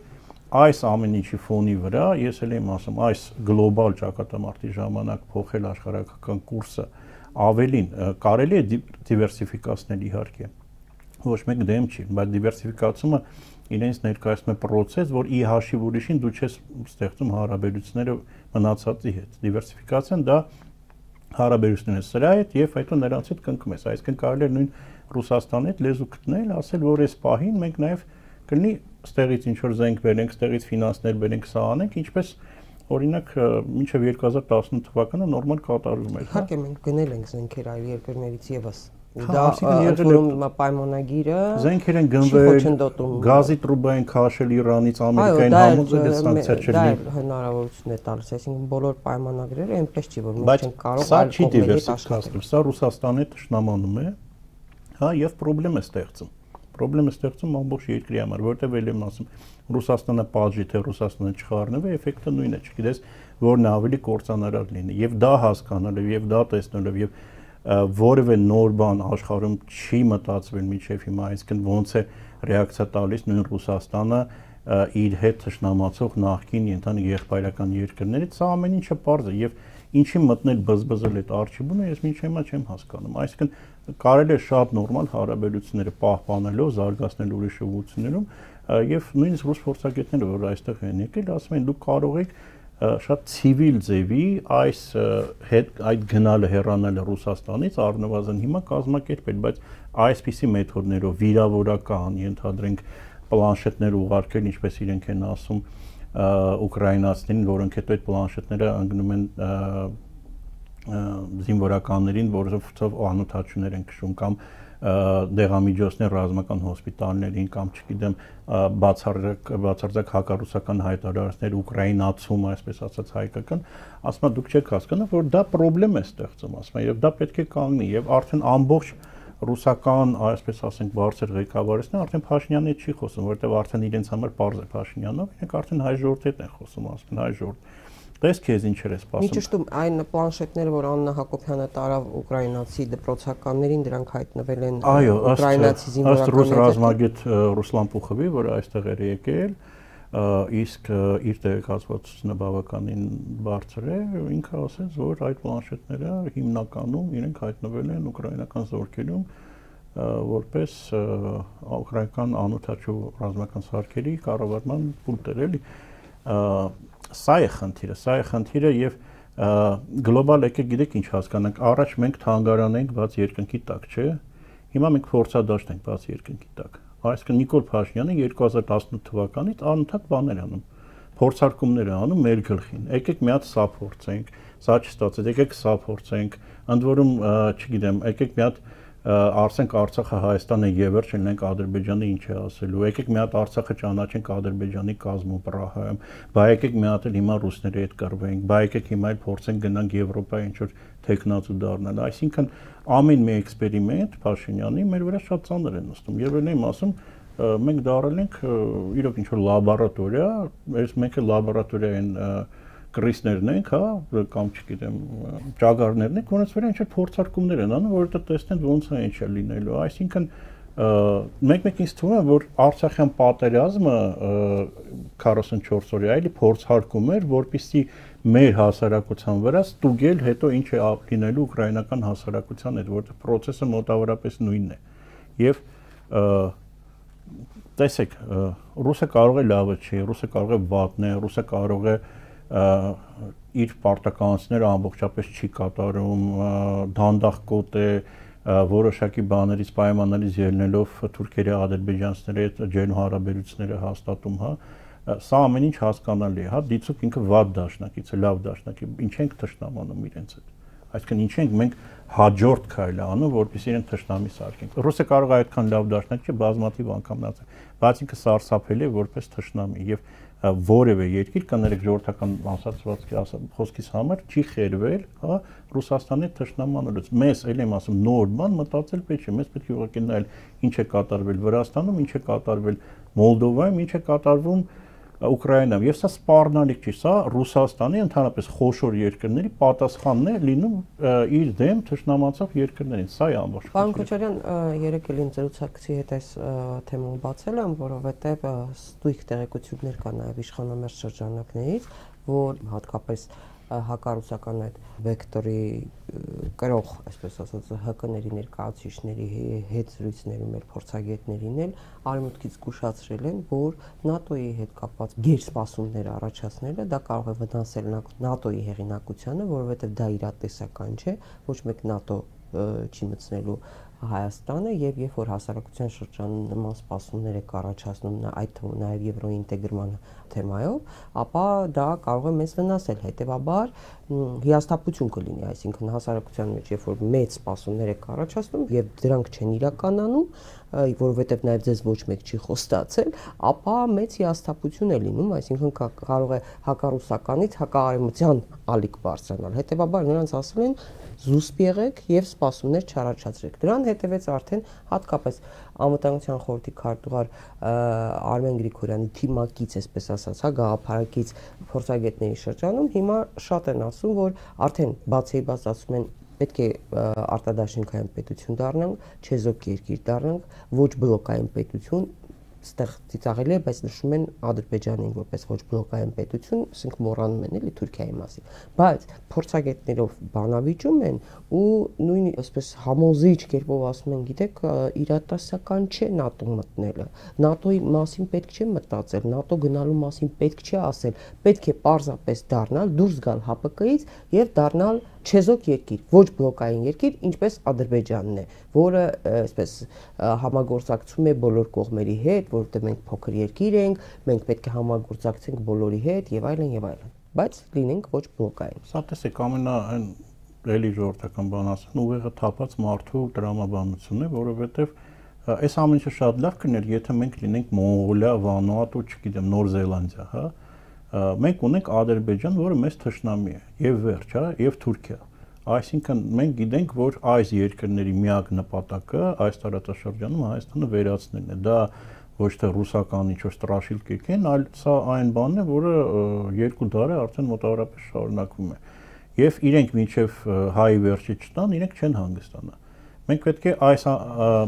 այս ամեն ինչի ֆոնի վրա ես էլ եմ ասում, այս գլոբալ ճակատամարտի ժամանակ փոխել աշխարհակական կուրսը ավելին կարելի է դիվերսիֆիկացնել իհարկե։ Ոչ մեկ դեմ չի, բայց դիվերսիֆիկացումը իրենց ներկայացնում է process, որ ի հաշիվ ուրիշին դու չես ստեղծում հարաբերությունները մնացածի հետ։ Դիվերսիֆիկացիան դա հարաբերությունները սրա հետ եւ հետո նրանց հետ կնքում ես, այսինքն կարելի է նույն Ռուսաստանի հետ լեզու գտնել, ասել որ այս պահին մենք նաեւ կլինի ստեղից ինչ որ զենք բերենք, ստեղից ֆինանսներ բերենք, սա անենք, ինչպես օրինակ մինչեւ երկու հազար տասնութ թվականը նորմալ կատարվում էր։ Իհարկե մենք գնել ենք զենքեր այլ երկրներից եւս։ Դա ըլտորում պայմանագիրը զենքեր են գնվել, գազի տրուբա են քաշել Իրանից, Ամերիկային համոզել է սանկցիա չլինի։ Դա հնարավորություն է տալիս, այսինքն բոլոր պայմանագրերը այնպես չի, որ մենք չենք կարող այլ կողմերի հետ աշխատել։ Սա Ռուսաստանի թշնամանում է, հա, եւ խնդրեմ է ստեղծում։ Խնդրեմ է ստեղծում ամբողջ երկրի համար, որտեղ ել եմ ասում, Ռուսաստանը պատժի, թե Ռուսաստանը չխառնվի, էֆեկտը նույնն է, չգիտես, որն է ավելի կործանարար լինի։ Եվ դա հասկանալով, եւ դա տեսնելով, եւ որևէ նոր բան աշխարհում չի մտածվել միջև հիմա, այսինքն ոնց է ռեակցիա տալիս նույն Ռուսաստանը իր հետ թշնամացող նախկին ընդհանուր եղբայրական երկրներից, սա ամեն ինչը պարզ է եւ ինչի մտնել բզբզել այդ արխիվը, ես մինչ հիմա չեմ հասկանում։ Այսինքն կարելի է շատ նորմալ հարաբերությունները պահպանելով, զարգացնել ուրիշ ուղղություններում, եւ նույնիսկ ռուս փորձագետները, որ այստեղ են եկել, ասում են դուք կարող եք շատ ցիվիլ ձևի այս այդ գնալը հեռանալը Ռուսաստանից առնվազն հիմա կազմակերպել, բայց այսպիսի մեթոդներով վիրավորական, ենթադրենք պլանշետներ ուղարկել, ինչպես իրենք են ասում ուկրաինացիներին, որոնք հետո այդ պլանշետները ընկնում են զինվորականներին, որովհետև անօթաչուներ են քշում կամ դեղամիջոցներ ռազմական հոսպիտալներին կամ չգիտեմ բացարձակ բացարձակ հակառուսական հայտարարություններ ուկրաինացում, այսպես ասած հայկական, ասում եմ դուք չեք հասկանում, որ դա խնդրեմ է ստեղծում, ասում եմ, եւ դա պետք է կանգնի եւ արդեն ամբողջ ռուսական, այսպես ասենք, բարձր ղեկավարությունն արդեն Փաշինյանի հետ չի խոսում, որովհետեւ արդեն իրենց համար պարզ է Փաշինյանով, իրենք արդեն հայ ժողովրդի հետ են խոսում, ասում են հայ ժողովուրդ Տես քեզ ինչեր է սպասում։ Մի ճշտում այն պլանշետները, որ Աննա Հակոբյանը տարավ ուկրաինացի դպրոցականներին, դրանք հայտնվել են ուկրաինացի զինվորականների։ Այո, ըստ ռուս ռազմագետ Ռուսլան Պուխովի, որը այստեղ էր եկել, իսկ իր տեղեկացվածությունը բավականին բարձր է, ինքը ասաց, որ այդ պլանշետները հիմնականում իրենք հայտնվել են ուկրաինական զորքերում որպես ուկրաինական անօթաչու ռազմական սարքերի կառավարման պունկտեր, էլի։ Սա է խնդիրը, սա է խնդիրը եւ գլոբալ եկեք գիտեք ինչ հասկանանք, առաջ մենք թանգարան ենք բաց երկնքի տակ, չէ՞։ Հիմա մենք փորձադաշտ ենք բաց երկնքի տակ։ Այսինքն Նիկոլ Փաշինյանը երկու հազար տասնութ թվականից անընդհատ բաներ անում, փորձարկումներ անում մեր գլխին։ Եկեք մի հատ սա փորձենք, սա չստացեց, եկեք սա փորձենք, ընդ որում, չգիտեմ, եկեք մի հատ Արցենք Արցախը Հայաստանը եւ վերջ լինենք Ադրբեջանը ինչ է ասելու։ Եկեք մի հատ Արցախը ճանաչենք Ադրբեջանի կազմում Պրահայում։ Բա եկեք մի հատ էլ հիմա ռուսների հետ կռվենք։ Բա եկեք հիմա էլ փորձենք գնանք Եվրոպա ինչ որ տեխնացու դառնալ։ Այսինքն ամեն մի էքսպերիմենտ Փաշինյանի մեր վրա շատ ծանր է նստում։ Եվ ելն եմ ասում, մենք դառել ենք իրոք ինչ որ լաբորատորիա, այս մեկը լաբորատորիային կրիսներն ենք, հա, կամ չգիտեմ, ճագարներն ենք, որոնց վրա ինչ-որ փորձարկումներ են անում, որովհետեւ տեսնեն ոնց է ինչ է լինելու։ Այսինքն մեկ-մեկ ինձ թվում է, որ Արցախյան պատերազմը քառասունչորս օրյա էլի փորձարկում էր, որպեսզի մեր հասարակության վրա ստուգել հետո ինչ է լինելու ուկրաինական հասարակության հետ, որտեղ process-ը մոտավորապես նույնն է։ Եվ տեսեք, ռուսը կարող է լավը չի, ռուսը կարող է վատն է, ռուսը կարող է իր պարտականությունները ամբողջապես չի կատարում, դանդաղկոտ է, որոշակի բաներից պայմաններից ելնելով թուրքերի ադրբեջանցիների հետ ջերմ հարաբերությունները հաստատում, հա, սա ամեն ինչ հասկանալի է, հա, դիցուք ինքը վատ դաշնակից է, լավ դաշնակի, ինչ ենք թշնամանում իրենց հետ։ Այսինքն ինչ ենք մենք հաջորդ քայլը անում, որպեսզի իրեն թշնամի սարքենք։ Ռուսը կարող է այդքան լավ դաշնակ չէ, բազմաթիվ անգամ նացել, բայց ինքը սարսափելի է որպես թշնամի եւ որևէ երկիր կներեք ժողովրդական ասացվածքի խոսքից համար չի խերվել, հա, Ռուսաստանի թշնամանալուց։ Մեզ էլ եմ ասում նոր բան մտածել պետք չէ, մեզ պետք է ուղղակի նայել ինչ է կատարվել Վրաստանում, ինչ է կատարվել Մոլդովայում, ինչ է կատարվում Ուկրաինայում։ Եվ սա սպառնալիք չի, սա Ռուսաստանի ընդհանրապես խոշոր երկրների պատասխանն է լինում իր դեմ թշնամացող երկրներին։ Սա է ամբողջ։ Պարոն Քոչարյան, երեք էլ ինձ զրուցակցի հետ այս թեման բացել եմ, որովհետև ստույգ տեղեկություններ կան նաև իշխանամերձ շրջանակներից, որ հատկապես հակառուսական այդ վեկտորի կրող, այսպես ասած, ՀԿ-ների ներկայացուցիչների հետ զրույցներում էլ փորձագետներին էլ արևմուտքից զգուշացրել են, որ ՆԱՏՕ-ի հետ կապված գերսպասումներ առաջացնելը դա կարող է վնասել ՆԱՏՕ-ի հեղինակությանը, որովհետև դա իրատեսական չէ, ոչ մեկ ՆԱՏՕ չի մտցնելու Հայաստանը եւ երբ որ հասարակության շրջանում նման սպասումներ է առաջացնում այդ թվում նաեւ եվրոինտեգրման թեմայով, ապա դա կարող է մեզ վնասել, հետեւաբար հիասթափություն կլինի, այսինքն հասարակության մեջ երբ որ մեծ սպասումներ է առաջացնում եւ դրանք չեն իրականանում, որովհետեւ նաեւ ձեզ ոչ մեկ չի խոստացել, ապա մեծ հիասթափություն է լինում, այսինքն կարող է հակառուսականից հակաարևմտյան ալիք բարձրանալ, հետեւաբար նրանց ասել են զուսպ եղեք եւ սպասումներ չառաջացրեք։ Դրան հետևեց արդեն հատկապես Անվտանգության խորհրդի քարտուղար Արմեն Գրիգորյանի թիմակից, այսպես ասած, հա, գաղափարակից փորձագետների շրջանում հիմա շատ են ասում, որ արդեն բացի բաց ասում են պետք է արտադաշինքային պետություն դառնանք, չեզոք երկիր դառնանք, ոչ բլոկային պետություն, ստեղ ծիծաղելի է, բայց նշում են Ադրբեջանին որպես ոչ բլոկային պետություն, ասենք մոռանում են էլի Թուրքիայի մասին։ Բայց փորձագետներով բանավիճում են ու նույն այսպես համոզիչ կերպով ասում են, գիտեք, իրատեսական չէ ՆԱՏՕ մտնելը։ ՆԱՏՕ-ի մասին պետք չէ մտածել, ՆԱՏՕ գնալու մասին պետք չէ ասել, պետք է պարզապես դառնալ, դուրս գալ ՀԱՊԿ-ից եւ դառնալ չեզոք երկիր, ոչ բլոկային երկիր, ինչպես Ադրբեջանն է, որը այսպես համագործակցում է բոլոր կողմերի հետ, որովհետև մենք փոքր երկիր ենք, մենք պետք է համագործակցենք բոլորի հետ եւ այլն եւ այլն, բայց լինենք ոչ բլոկային։ Սա տեսեք, ամենա այն էլի ժողովրդական բան ասեն, ուղեղը թափած մարդու դրամաբանությունն է, որովհետև այս ամեն ինչը շատ լավ կներ, եթե մենք լինենք Մոնղոլիա, Վանուատու, չգիտեմ, Նոր Զելանդիա, հա։ Մենք ունենք Ադրբեջան, որը մեզ թշնամի է, եւ վերջ, հա, եւ Թուրքիա։ Այսինքն մենք գիտենք, որ այս երկրների միակ նպատակը այս տարածաշրջանում Հայաստանը վերացնելն է։ Դա ոչ թե ռուսական ինչ-որ ստրաշիլկեք են, այլ սա այն բանն է, որը երկու դար է արդեն մոտավորապես շարունակվում է։ Եվ իրենք մինչև հայի վերջի չտան, իրենք չեն հանգստանա։ Մենք պետք է այս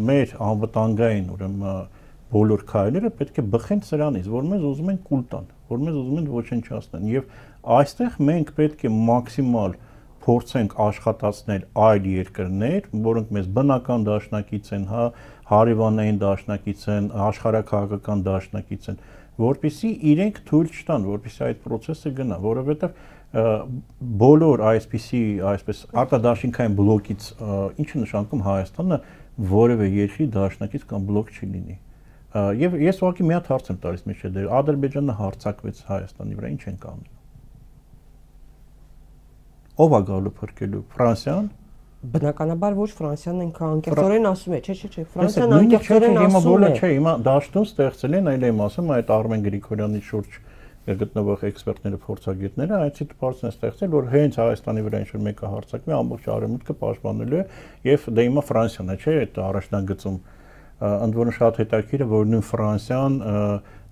մեր անվտանգային, ուրեմն բոլոր քայլերը պետք է բխեն սրանից, որ մեզ ուզում են կուլ տան, որ մեզ ուզում են ոչնչացնեն, եւ այստեղ մենք պետք է մաքսիմալ փորձենք աշխատացնել այլ երկրներ, որոնք մեզ բնական դաշնակից են, հա, հարևանային դաշնակից են, աշխարհաքաղաքական դաշնակից են, որպեսզի իրենք թույլ չտան, որպեսզի այդ process-ը գնա, որովհետեւ բոլոր այսպիսի, այսպես արտադաշինքային բլոկից ինչը նշանակում Հայաստանը որևէ երկրի դաշնակից կամ բլոկ չի լինի։ Եվ ես ուղղակի մի հատ հարց եմ տալիս մեջը դեր Ադրբեջանը հարձակվեց Հայաստանի վրա, ինչ են կանում։ Ո՞վ է գալու փրկելու, Ֆրանսիան։ Բնականաբար ոչ Ֆրանսիան ինքը անկեղծորեն ասում է, չէ, չէ, չէ, Ֆրանսիան անկեղծորեն ասում է։ Չէ, հիմա դաշտում ստեղծել են, այլ եմ ասում, այդ Արմեն Գրիգորյանի շուրջ գտնվող էքսպերտները, փորձագետները այդ սիտուացիան ստեղծել, որ հենց Հայաստանի վրա ինչ-որ մեկը հարձակվի, ամբողջ արևմուտքը պաշտպանելու է, եւ դե հիմա Ֆրանսիան է, չէ, այդ առաջնագծում ընդ որում շատ հետաքրքիր է, որ նույն Ֆրանսիան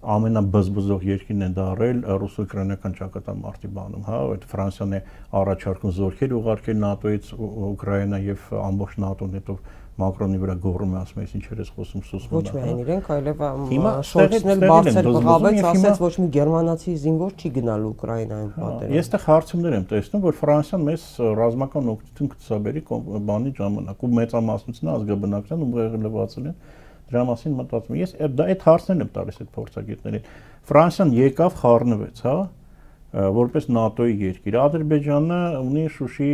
ամենաբզբզող երկիրն է դարել ռուս-ուկրաինական ճակատամարտի բանում, հա, այդ Ֆրանսիան է առաջարկում զորքեր ուղարկել ՆԱՏՕ-ից Ուկրաինա եւ ամբողջ ՆԱՏՕ-ն հետո Մակրոնի վրա գոռում է, ասում է, ինչ ես խոսում սուսում։ Ոչ միայն իրենք, այլև Շոլցն էլ բարձր բղավեց, ասաց ոչ մի գերմանացի զինվոր չի գնալու Ուկրաինայում պատերազմ։ Ես այդտեղ հարցումներ եմ տեսնում, որ Ֆրանսիան մեզ ռազմական օգնություն կցուցաբերի բանի ժամանակ ու մեծամասնությունը ազգաբնակության ուղեղը լվացել են դրա մասին մտածում։ Ես դա այդ հարցներն եմ տալիս այդ փորձագետներին։ Ֆրանսիան եկավ, խառնվեց, հա, որպես ՆԱՏՕ-ի երկիր։ Ադրբեջանը ունի Շուշի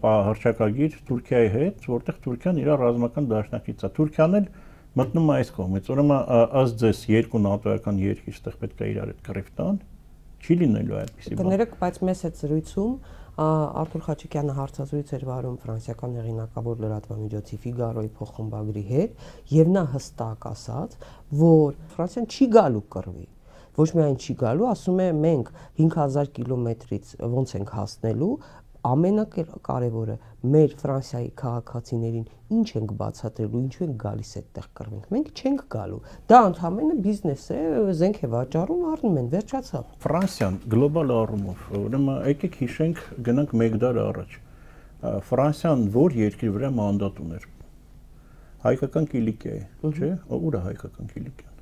հռչակագիր Թուրքիայի հետ, որտեղ Թուրքիան իր ռազմական դաշնակիցն է։ Թուրքիան էլ մտնում է այս կողմից։ Ուրեմն ըստ ձեզ երկու ՆԱՏՕ-ական երկիր այդտեղ պետք է իրար հետ կռիվ տան։ Չի լինելու այդպեսի բան։ Կներեք, բայց մեզ այդ զրույցում Արթուր Խաչիկյանը հարցազրույց էր վարում ֆրանսիական հեղինակավոր լրատվամիջոցի Ֆիգարոյի փոխխմբագրի հետ, եւ նա հստակ ասաց, որ Ֆրանսիան չի գալու կռվի։ Ոչ միայն չի գալու, ասում է մենք հինգ հազար կիլոմետրից ոնց ենք հասնելու, ամենակարևորը մեր Ֆրանսիայի քաղաքացիներին ինչ ենք բացատրելու, ինչու են գալիս այդտեղ կռվենք։ Մենք չենք գալու։ Դա ընդհանրապես բիզնես է, զենք է վաճառում, առնում են, վերջացավ։ Ֆրանսիան գլոբալ առումով, ուրեմն եկեք հիշենք, գնանք մեկ դար առաջ։ Ֆրանսիան որ երկրի վրա մանդատ ուներ։ Հայկական Կիլիկիայի, չէ՞, ուր է հայկական Կիլիկիան։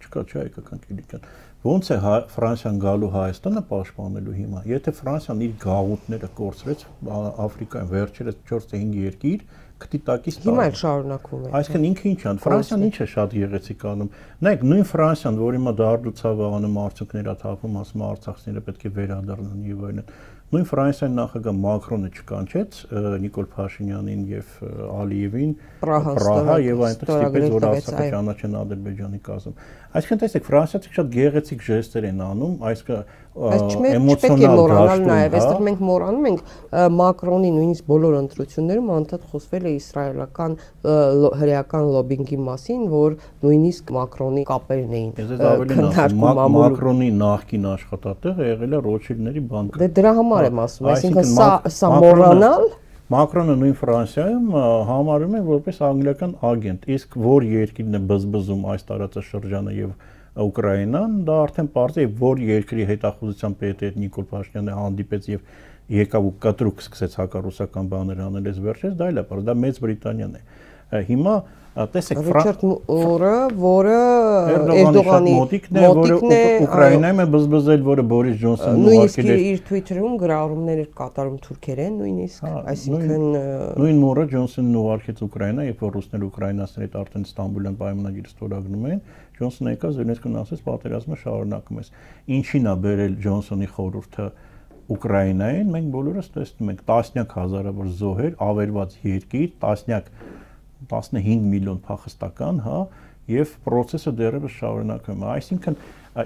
Չկա չէ հայկական Կիլիկիան։ Ոնց է Ֆրանսիան գալու Հայաստանը պաշտպանելու հիմա։ Եթե Ֆրանսիան իր գաղութները կորցրեց Աֆրիկայում վերջերս չորս թե հինգ երկիր, քտիտակից տա։ Հիմա էլ շարունակվում է։ Այսինքն ինքը ինչ է, Ֆրանսիան ինչ է շատ եղեցիկ անում։ Նայեք, նույն Ֆրանսիան, որ հիմա դարդուցավ անում, արդյունքներ աթափում, ասում արցախցիները պետք է վերադառնան եւ այլն։ Նույն Ֆրանսիայի նախագահ Մակրոնը չկանչեց Նիկոլ Փաշինյանին եւ Ալիևին Պրահա եւ այնտեղ ստիպեց, որ Արցախը ճանաչեն Ադրբեջանի կազմում։ Այսինքն տեսեք, ֆրանսիացիները շատ գեղեցիկ ժեստեր են անում, այսինքն էմոցիոնալ դաշտում, նաեւ այստեղ մենք մոռանում ենք Մակրոնի նույնիսկ բոլոր ընտրություններում անդադ խոսվել է իսրայելական հրեական լոբինգի մասին, որ նույնիսկ Մակրոնի կապերն էին քննարկում Մակրոնի նախկին աշխատատեղը եղել է Ռոթշիլդների բանկը։ Դե դրա համար եմ ասում, այսինքն սա սա մոռանալ Մակրոնը նույն Ֆրանսիայում համարում է որպես անգլիական ագենտ, իսկ որ երկիրն է բզբզում այս տարածաշրջանը եւ Ուկրաինան, դա արդեն պարզ է, որ երկրի հետախուզության պետը այդ Նիկոլ Փաշինյանը հանդիպեց եւ եկավ ու կտրուկ սկսեց հակառուսական բաներ անել, այս վերջերս դա էլ է պարզ, դա Մեծ Բրիտանիան է։ Հիմա տեսեք Ռիչարդ Մուրը, որը Էրդողանի մոտիկն է, որը Ուկրաինայում է բզբզել, որը Բորիս Ջոնսոնն ուղարկել է իր Twitter-ում գրառումներ կատարում թուրքերեն, նույնիսկ, այսինքն նույն Մուրը Ջոնսոնն ուղարկեց Ուկրաինա, երբ որ ռուսները ուկրաինացիների հետ արդեն Ստամբուլյան պայմանագիր ստորագրում են, Ջոնսոնը եկա Զելենսկին ասեց, պատերազմը շարունակում ես։ Ինչին է բերել Ջոնսոնի խորհուրդը Ուկրաինային, մենք բոլորս տեսնում ենք տասնյակ հազարավոր զոհեր, ավերված երկիր, տասնյակ տասնհինգ միլիոն փախստական, հա, եւ process-ը դեռևս շարունակվում է։ Այսինքն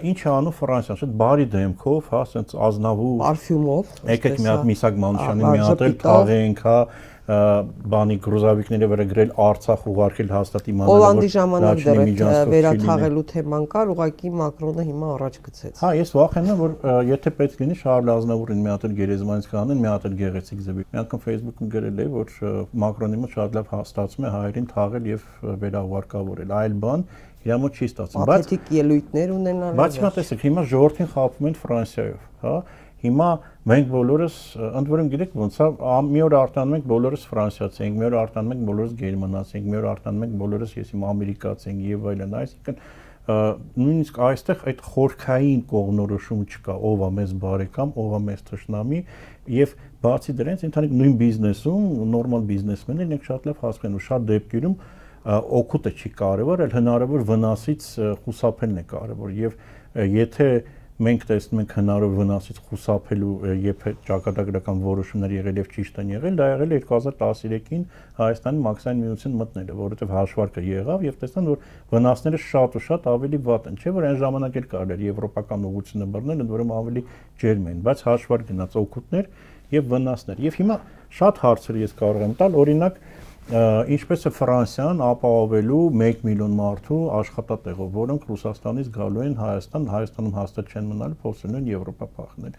ինչ է անում Ֆրանսիան, շատ բարի դեմքով, հա, ասենց ազնավու պարֆյումով, եկեք մի հատ Միսակ Մանուշյանին միատել, թաղենք, հա, բանի գրուզավիկների վրա գրել Արցախ ուղարկել հաստատ իմանալով Հոլանդի ժամանակ դեռ վերաթաղելու թեման կար, ուղղակի Մակրոնը հիմա առաջ գցեց։ Հա, ես վախենում եմ, որ եթե պետք լինի Շարլ Ազնավուրին մի հատ գերեզմանից կանեն, մի հատ գեղեցիկ ձևի։ Մի անգամ Facebook-ում գրել է, որ Մակրոնի մոտ շատ լավ հաստատում է հայերին թաղել եւ վերահուարկավորել։ Այլ բան իր մոտ չի ստացվում։ Բայց պաթետիկ ելույթներ ունենալ։ Բայց հիմա տեսեք, հիմա ժողովրդին խաբում են Ֆրանսիայով, հա։ Հիմա մենք բոլորս ընդ որում գիտեք ոնց է, մի օր արտանում ենք բոլորս ֆրանսիացի ենք, մի օր արտանում ենք բոլորս գերմանացի ենք, մի օր արտանում ենք բոլորս ես իմ ամերիկացի ենք եւ այլն, այսինքն նույնիսկ այստեղ այդ խորքային կողմնորոշում չկա, ով է մեզ բարեկամ, ով է մեզ թշնամի եւ բացի դրանից ընդհանուր նույն բիզնեսում նորմալ բիզնեսմեններն են շատ լավ հասկանում, շատ դեպքերում օգուտը չի կարևոր, այլ հնարավոր վնասից խուսափելն է կարևոր եւ եթե մենք տեսնում ենք հնարավոր վնասից խուսափելու երբ ճակատագրական որոշումներ եղել եւ ճիշտ են եղել, դա եղել է երկու հազար տասներեքին Հայաստանի մաքսային միություն մտնելը, որովհետեւ հաշվարկը եղավ եւ տեսան, որ վնասները շատ ու շատ ավելի վատ են, չէ՞ որ այն ժամանակ էլ կարելի էր եվրոպական ուղղությունը բռնել, ընդ որում ավելի ջերմ էին, բայց հաշվարկ գնաց օգուտներ եւ վնասներ։ Եվ հիմա շատ հարցեր ես կարող եմ տալ, օրինակ ինչպես է Ֆրանսիան ապահովելու մեկ միլիոն մարդու աշխատատեղով, որոնք Ռուսաստանից գալու են Հայաստան, Հայաստանում հաստատ չեն մնալու, փորձելու են Եվրոպա փախնել։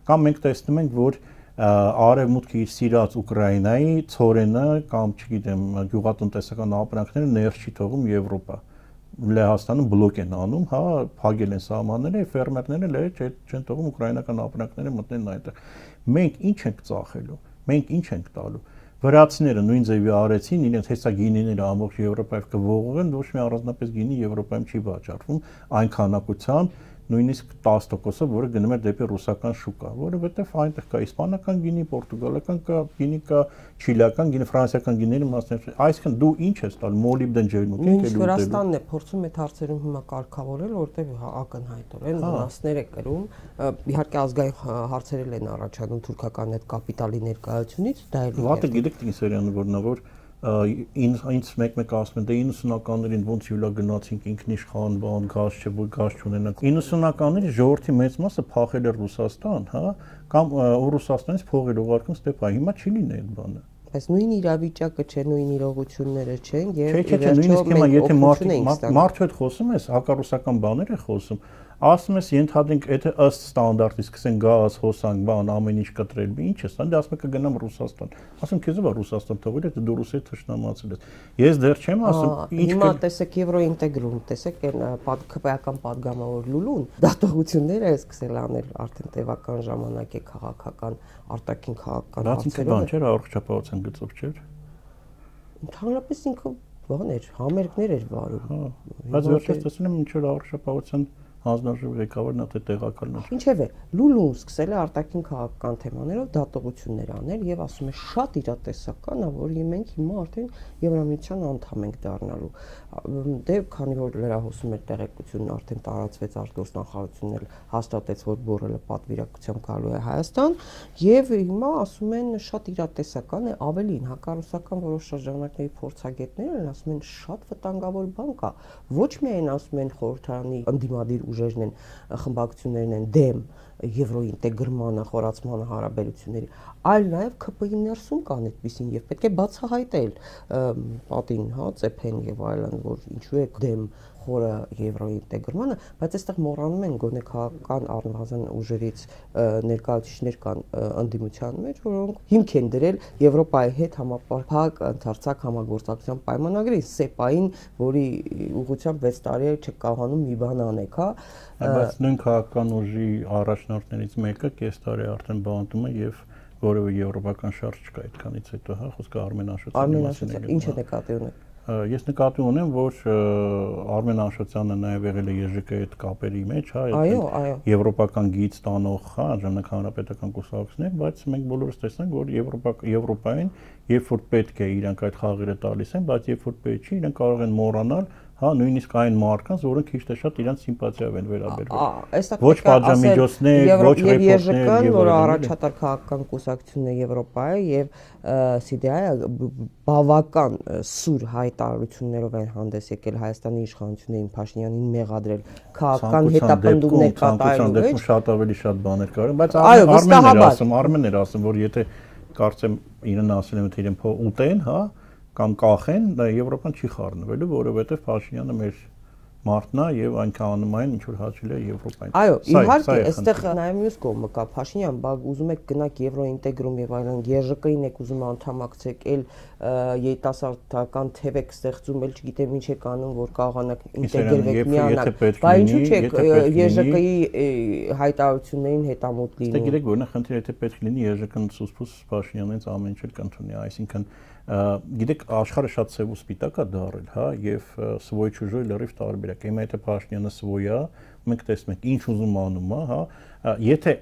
Կամ մենք տեսնում ենք, որ արևմուտքի իր սիրած Ուկրաինայի ցորենը կամ չգիտեմ գյուղատնտեսական ապրանքները ներս չի թողում Եվրոպա։ Լեհաստանում բլոկ են անում, հա, փակել են սահմանները, ֆերմերները լե չեն թողում ուկրաինական ապրանքները մտնեն այնտեղ։ Մենք ինչ ենք ծախելու։ Մենք ինչ ենք տալու։ Վրացիները նույն ձևի արեցին, իրենց հեսա գինիները ամբողջ Եվրոպայով կողողեն, ոչ մի առանձնապես գինի Եվրոպայում չի վաճառվում այն քանակությամբ, նույնիսկ տասը տոկոսը, որը գնում է դեպի ռուսական շուկա, որովհետև այնտեղ կա իսպանական գինի, պորտուգալական կա, գինի կա, չիլիական գինի, ֆրանսիական գինիների մասներ։ Այսինքն դու ինչ ես տալ մոլիբդեն ջերմուկի կելուտելու։ Վրաստանն է փորձում այդ հարցերում հիմա կարգավորել, որտեղ ակնհայտորեն վնասներ է կրում։ Իհարկե ազգային հարցեր են առաջանում թուրքական այդ կապիտալի ներկայությունից, դա էլ վատը գիտեք Տինսերյանը որնա որ ինձ մեկ-մեկ ասում են դե իննսունականներին ոնց յուլա գնացինք ինքնիշխան բան գազ չէ որ գազ չունենանք իննսունականների ժողովրդի մեծ մասը փախել է Ռուսաստան, հա, կամ Ռուսաստանից փող էր ուղարկում ստեպա, հիմա չի լինի այդ բանը։ Բայց նույն իրավիճակը չէ, նույն իրողությունները չեն եւ չէ, չէ, նույնիսկ հիմա եթե մարդու հետ խոսում ես, հակառուսական բաներ է խոսում, ասում ես ենթադրենք եթե ըստ ստանդարտի սկսեն գազ, հոսանք, բան, ամեն ինչ կտրել, ինչ ես, դե ասում եք կգնամ Ռուսաստան։ Ասում քեզ ո՞վ է Ռուսաստան թողել, եթե դու Ռուսիայի թշնամացել ես։ Ես դեռ չեմ ասում, ինչ հիմա տեսեք եվրոինտեգրում, տեսեք այն քպայական падգամավոր Լուլուն, դատողությունները է սկսել անել արդեն տևական ժամանակ է քաղաքական արտաքին քաղաքական հարցերով։ Դա չէր առողջապահության գծով չէր։ Ընդհանրապես ինքը բան էր, համերգներ էր վարում։ Հա, բայց վերջերս տեսնում եմ ինչ որ առողջապահության հանձնաժողովի ղեկավարն է տեղակալն է։ Ինչևէ, Լուլուն սկսել է արտաքին քաղաքական թեմաներով դատողություններ անել եւ ասում է շատ իրատեսական է, որ մենք հիմա արդեն Եվրամիության անդամ ենք դառնալու։ Դե քանի որ լրահոսում էր տեղեկությունն արդեն տարածվեց արտգործնախարարությունն էլ հաստատեց, որ Բորելը պատվիրակությամբ գալու է Հայաստան եւ հիմա ասում են շատ իրատեսական է, ավելին հակառուսական որոշ շրջանակների փորձագետները ասում են շատ վտանգավոր բան կա։ Ոչ միայն ասում են խորհրդարանի ընդդիմադիր ուժերն են, խմբակցություններն են դեմ եվրոինտեգրմանը, խորացմանը հարաբերությունների, այլ նաև ՔՊ-ի ներսում կան այդպեսին եւ պետք է բացահայտել պատին, հա, ծեփեն եւ այլն, որ ինչու է դեմ խորը եվրոինտեգրմանը, բայց այստեղ մոռանում են գոնե քաղաքական առնվազն ուժերից ներկայացուցիչներ կան ընդդիմության մեջ, որոնք հիմք են դրել Եվրոպայի հետ համապարփակ ընդարձակ համագործակցության պայմանագրի սեպային, որի ուղղությամբ վեց տարի է չկարողանում մի բան անեք, հա։ Բայց նույն քաղաքական ուժի առաջնորդներից մեկը կես տարի արդեն բանտում է եւ որևէ եվրոպական շարժ չկա այդքանից հետո, հա, խոսքը Արմեն Աշոտյանի մասին է։ Ինչ է նկատի ունեք։ Ես նկատի ունեմ, որ Արմեն Աշոտյանը նաև եղել է Ե Ժ Կ-ի հետ կապերի մեջ, հա, այո, այո, եվրոպական գիծ տանող, հա, ժամանակ հանրապետական կուսակցություններ, բայց մենք բոլորս տեսանք, որ Եվրոպային, երբ որ պետք է իրանք այդ խաղերը տալիս են, բայց երբ որ պետք չի, իրանք կարող են մոռանալ, հա, նույնիսկ այն մարդկանց, որոնք քիչ թե շատ իրանք սիմպաթիայով են վերաբերվել։ Ոչ պատժամիջոցներ, ոչ ռեպորտներ, Ե Ժ Կ-ն, որը առաջատար քաղաքական կուսակցությունն է Եվրոպայի, եւ Սի Դի Այ-ը բավական սուր հայտարարություններով են հանդես եկել Հայաստանի իշխանություններին Փաշինյանին մեղադրել քաղաքական հետապնդումներ կատարելու մեջ։ Շատ ավելի շատ բաներ կար, բայց Արմենն էր ասում, Արմենն էր ասում, որ եթե կարծեմ իրեն ասել եմ, թե իրեն ուտեն, հա, կամ կախեն, դա Եվրոպան չի խառնվելու, որովհետև Փաշինյանը մեր մարդն է եւ այնքան անում այն, ինչ որ հաճելի է Եվրոպային։ Այո, իհարկե, այստեղ նաեւ մյուս կողմը կա, Փաշինյան, բա ուզում եք գնաք Եվրոինտեգրում եւ այլն, Ե Ժ Կ-ին եք ուզում անդամակցեք, էլ երիտասարդական թև եք ստեղծում, էլ չգիտեմ ինչ եք անում, որ կարողանաք ինտեգրվեք միանալ։ Բա ինչու՞ չեք Ե Ժ Կ-ի հայտարարություններին հետամուտ լինում։ Դե գիտեք, որ նա խնդիրը եթե պետք լինի Ե Ժ Կ-ն սուսպուս Փաշինյանից ամեն ինչ կընդունի, այսինքն գիտեք աշխարհը շատ սև ու սպիտակ է դարել, հա, եւ սվոյ ճուժոյ լրիվ տարբերակ։ Հիմա եթե Փաշինյանը սվոյ է, մենք տեսնում ենք ինչ ուզում անում է, հա, եթե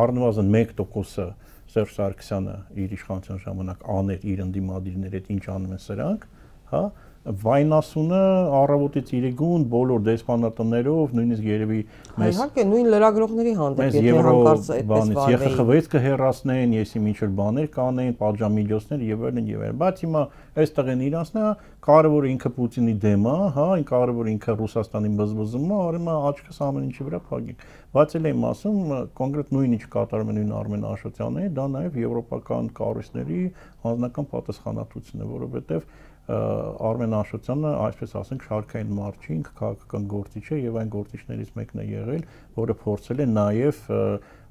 առնվազն մեկ տոկոսը Սերժ Սարգսյանը իր իշխանության ժամանակ աներ իր ընդդիմադիրների հետ ինչ անում են սրանք, հա, վայնասունը առավոտից իրիկուն բոլոր դեսպանատներով, նույնիսկ երևի մեզ իհարկե նույն լրագրողների հանդեպ եթե հանկարծ այդպես բանից Ե Խ Խ վեց կհեռացնեն, եսի ինչ որ բաներ կանեն, պատժամիջոցներ եւ այլն եւ այլն, բայց հիմա այստեղ են իրանցնա, կարևորը ինքը Պուտինի դեմ է, հա, այն կարևորը ինքը Ռուսաստանի բզբզում է, արի մա աչքս ամեն ինչի վրա փակենք։ Բայց էլ եմ ասում, կոնկրետ նույն ինչ կատարում են նույն Արմեն Աշոտյանը, դա նաեւ եվրոպական կառույցների անձնական պատասխանատվությունն է, որովհետեւ Արմեն Աշոտյանը, այսպես ասենք, շարքային մարդ չի, ինքը քաղաքական գործիչ է եւ այն գործիչներից մեկն է եղել, որը փորձել է նաեւ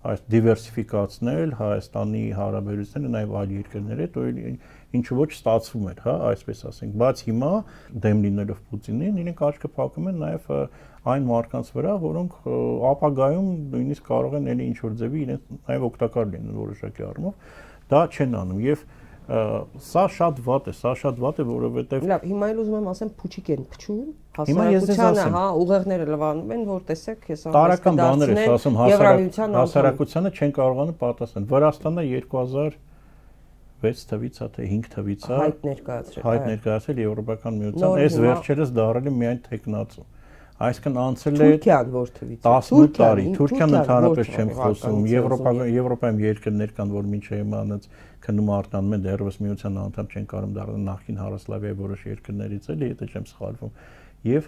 այս դիվերսիֆիկացնել Հայաստանի հարաբերությունները նաեւ այլ երկրների հետ, ինչու ոչ ստացվում էր, հա, այսպես ասենք, բայց հիմա դեմ լինելով Պուտինին, իրենք աչքը փակում են նաեւ այն մարդկանց վրա, որոնք ապագայում նույնիսկ կարող են էլի ինչ որ ձևի իրենց նաեւ օգտակար լինեն որոշակի առումով, դա չեն անում եւ սա շատ վատ է, սա շատ վատ է, որովհետև Լավ, հիմա էլ ուզում եմ ասեմ փուչիկ են փչում, հասարակությանը, հա, ուղեղները լվանում են, որ տեսեք, ես տարական բաներ ես ասում, հասարակությանը չեն կարողանում պատասխանել։ Վրաստանը երկու հազար վեց թվից է, թե հինգ թվից է հայտ ներկայացրել, հայտ ներկայացրել Եվրոպական միության, այս վերջերս դարել է միայն տեխնացու։ Այսինքն անցել է Թուրքիան որ թվից տասնութ տարի, Թուրքիան ընդհանրապես չեմ խոսում, Եվրոպայում երկրներ կան, որ մինչև իմանած քնում արտանում են դեռևս միության անդամ չեն կարող դառնալ նախկին Հարասլավիայի որոշ երկրներից էլի, եթե չեմ սխալվում։ Եվ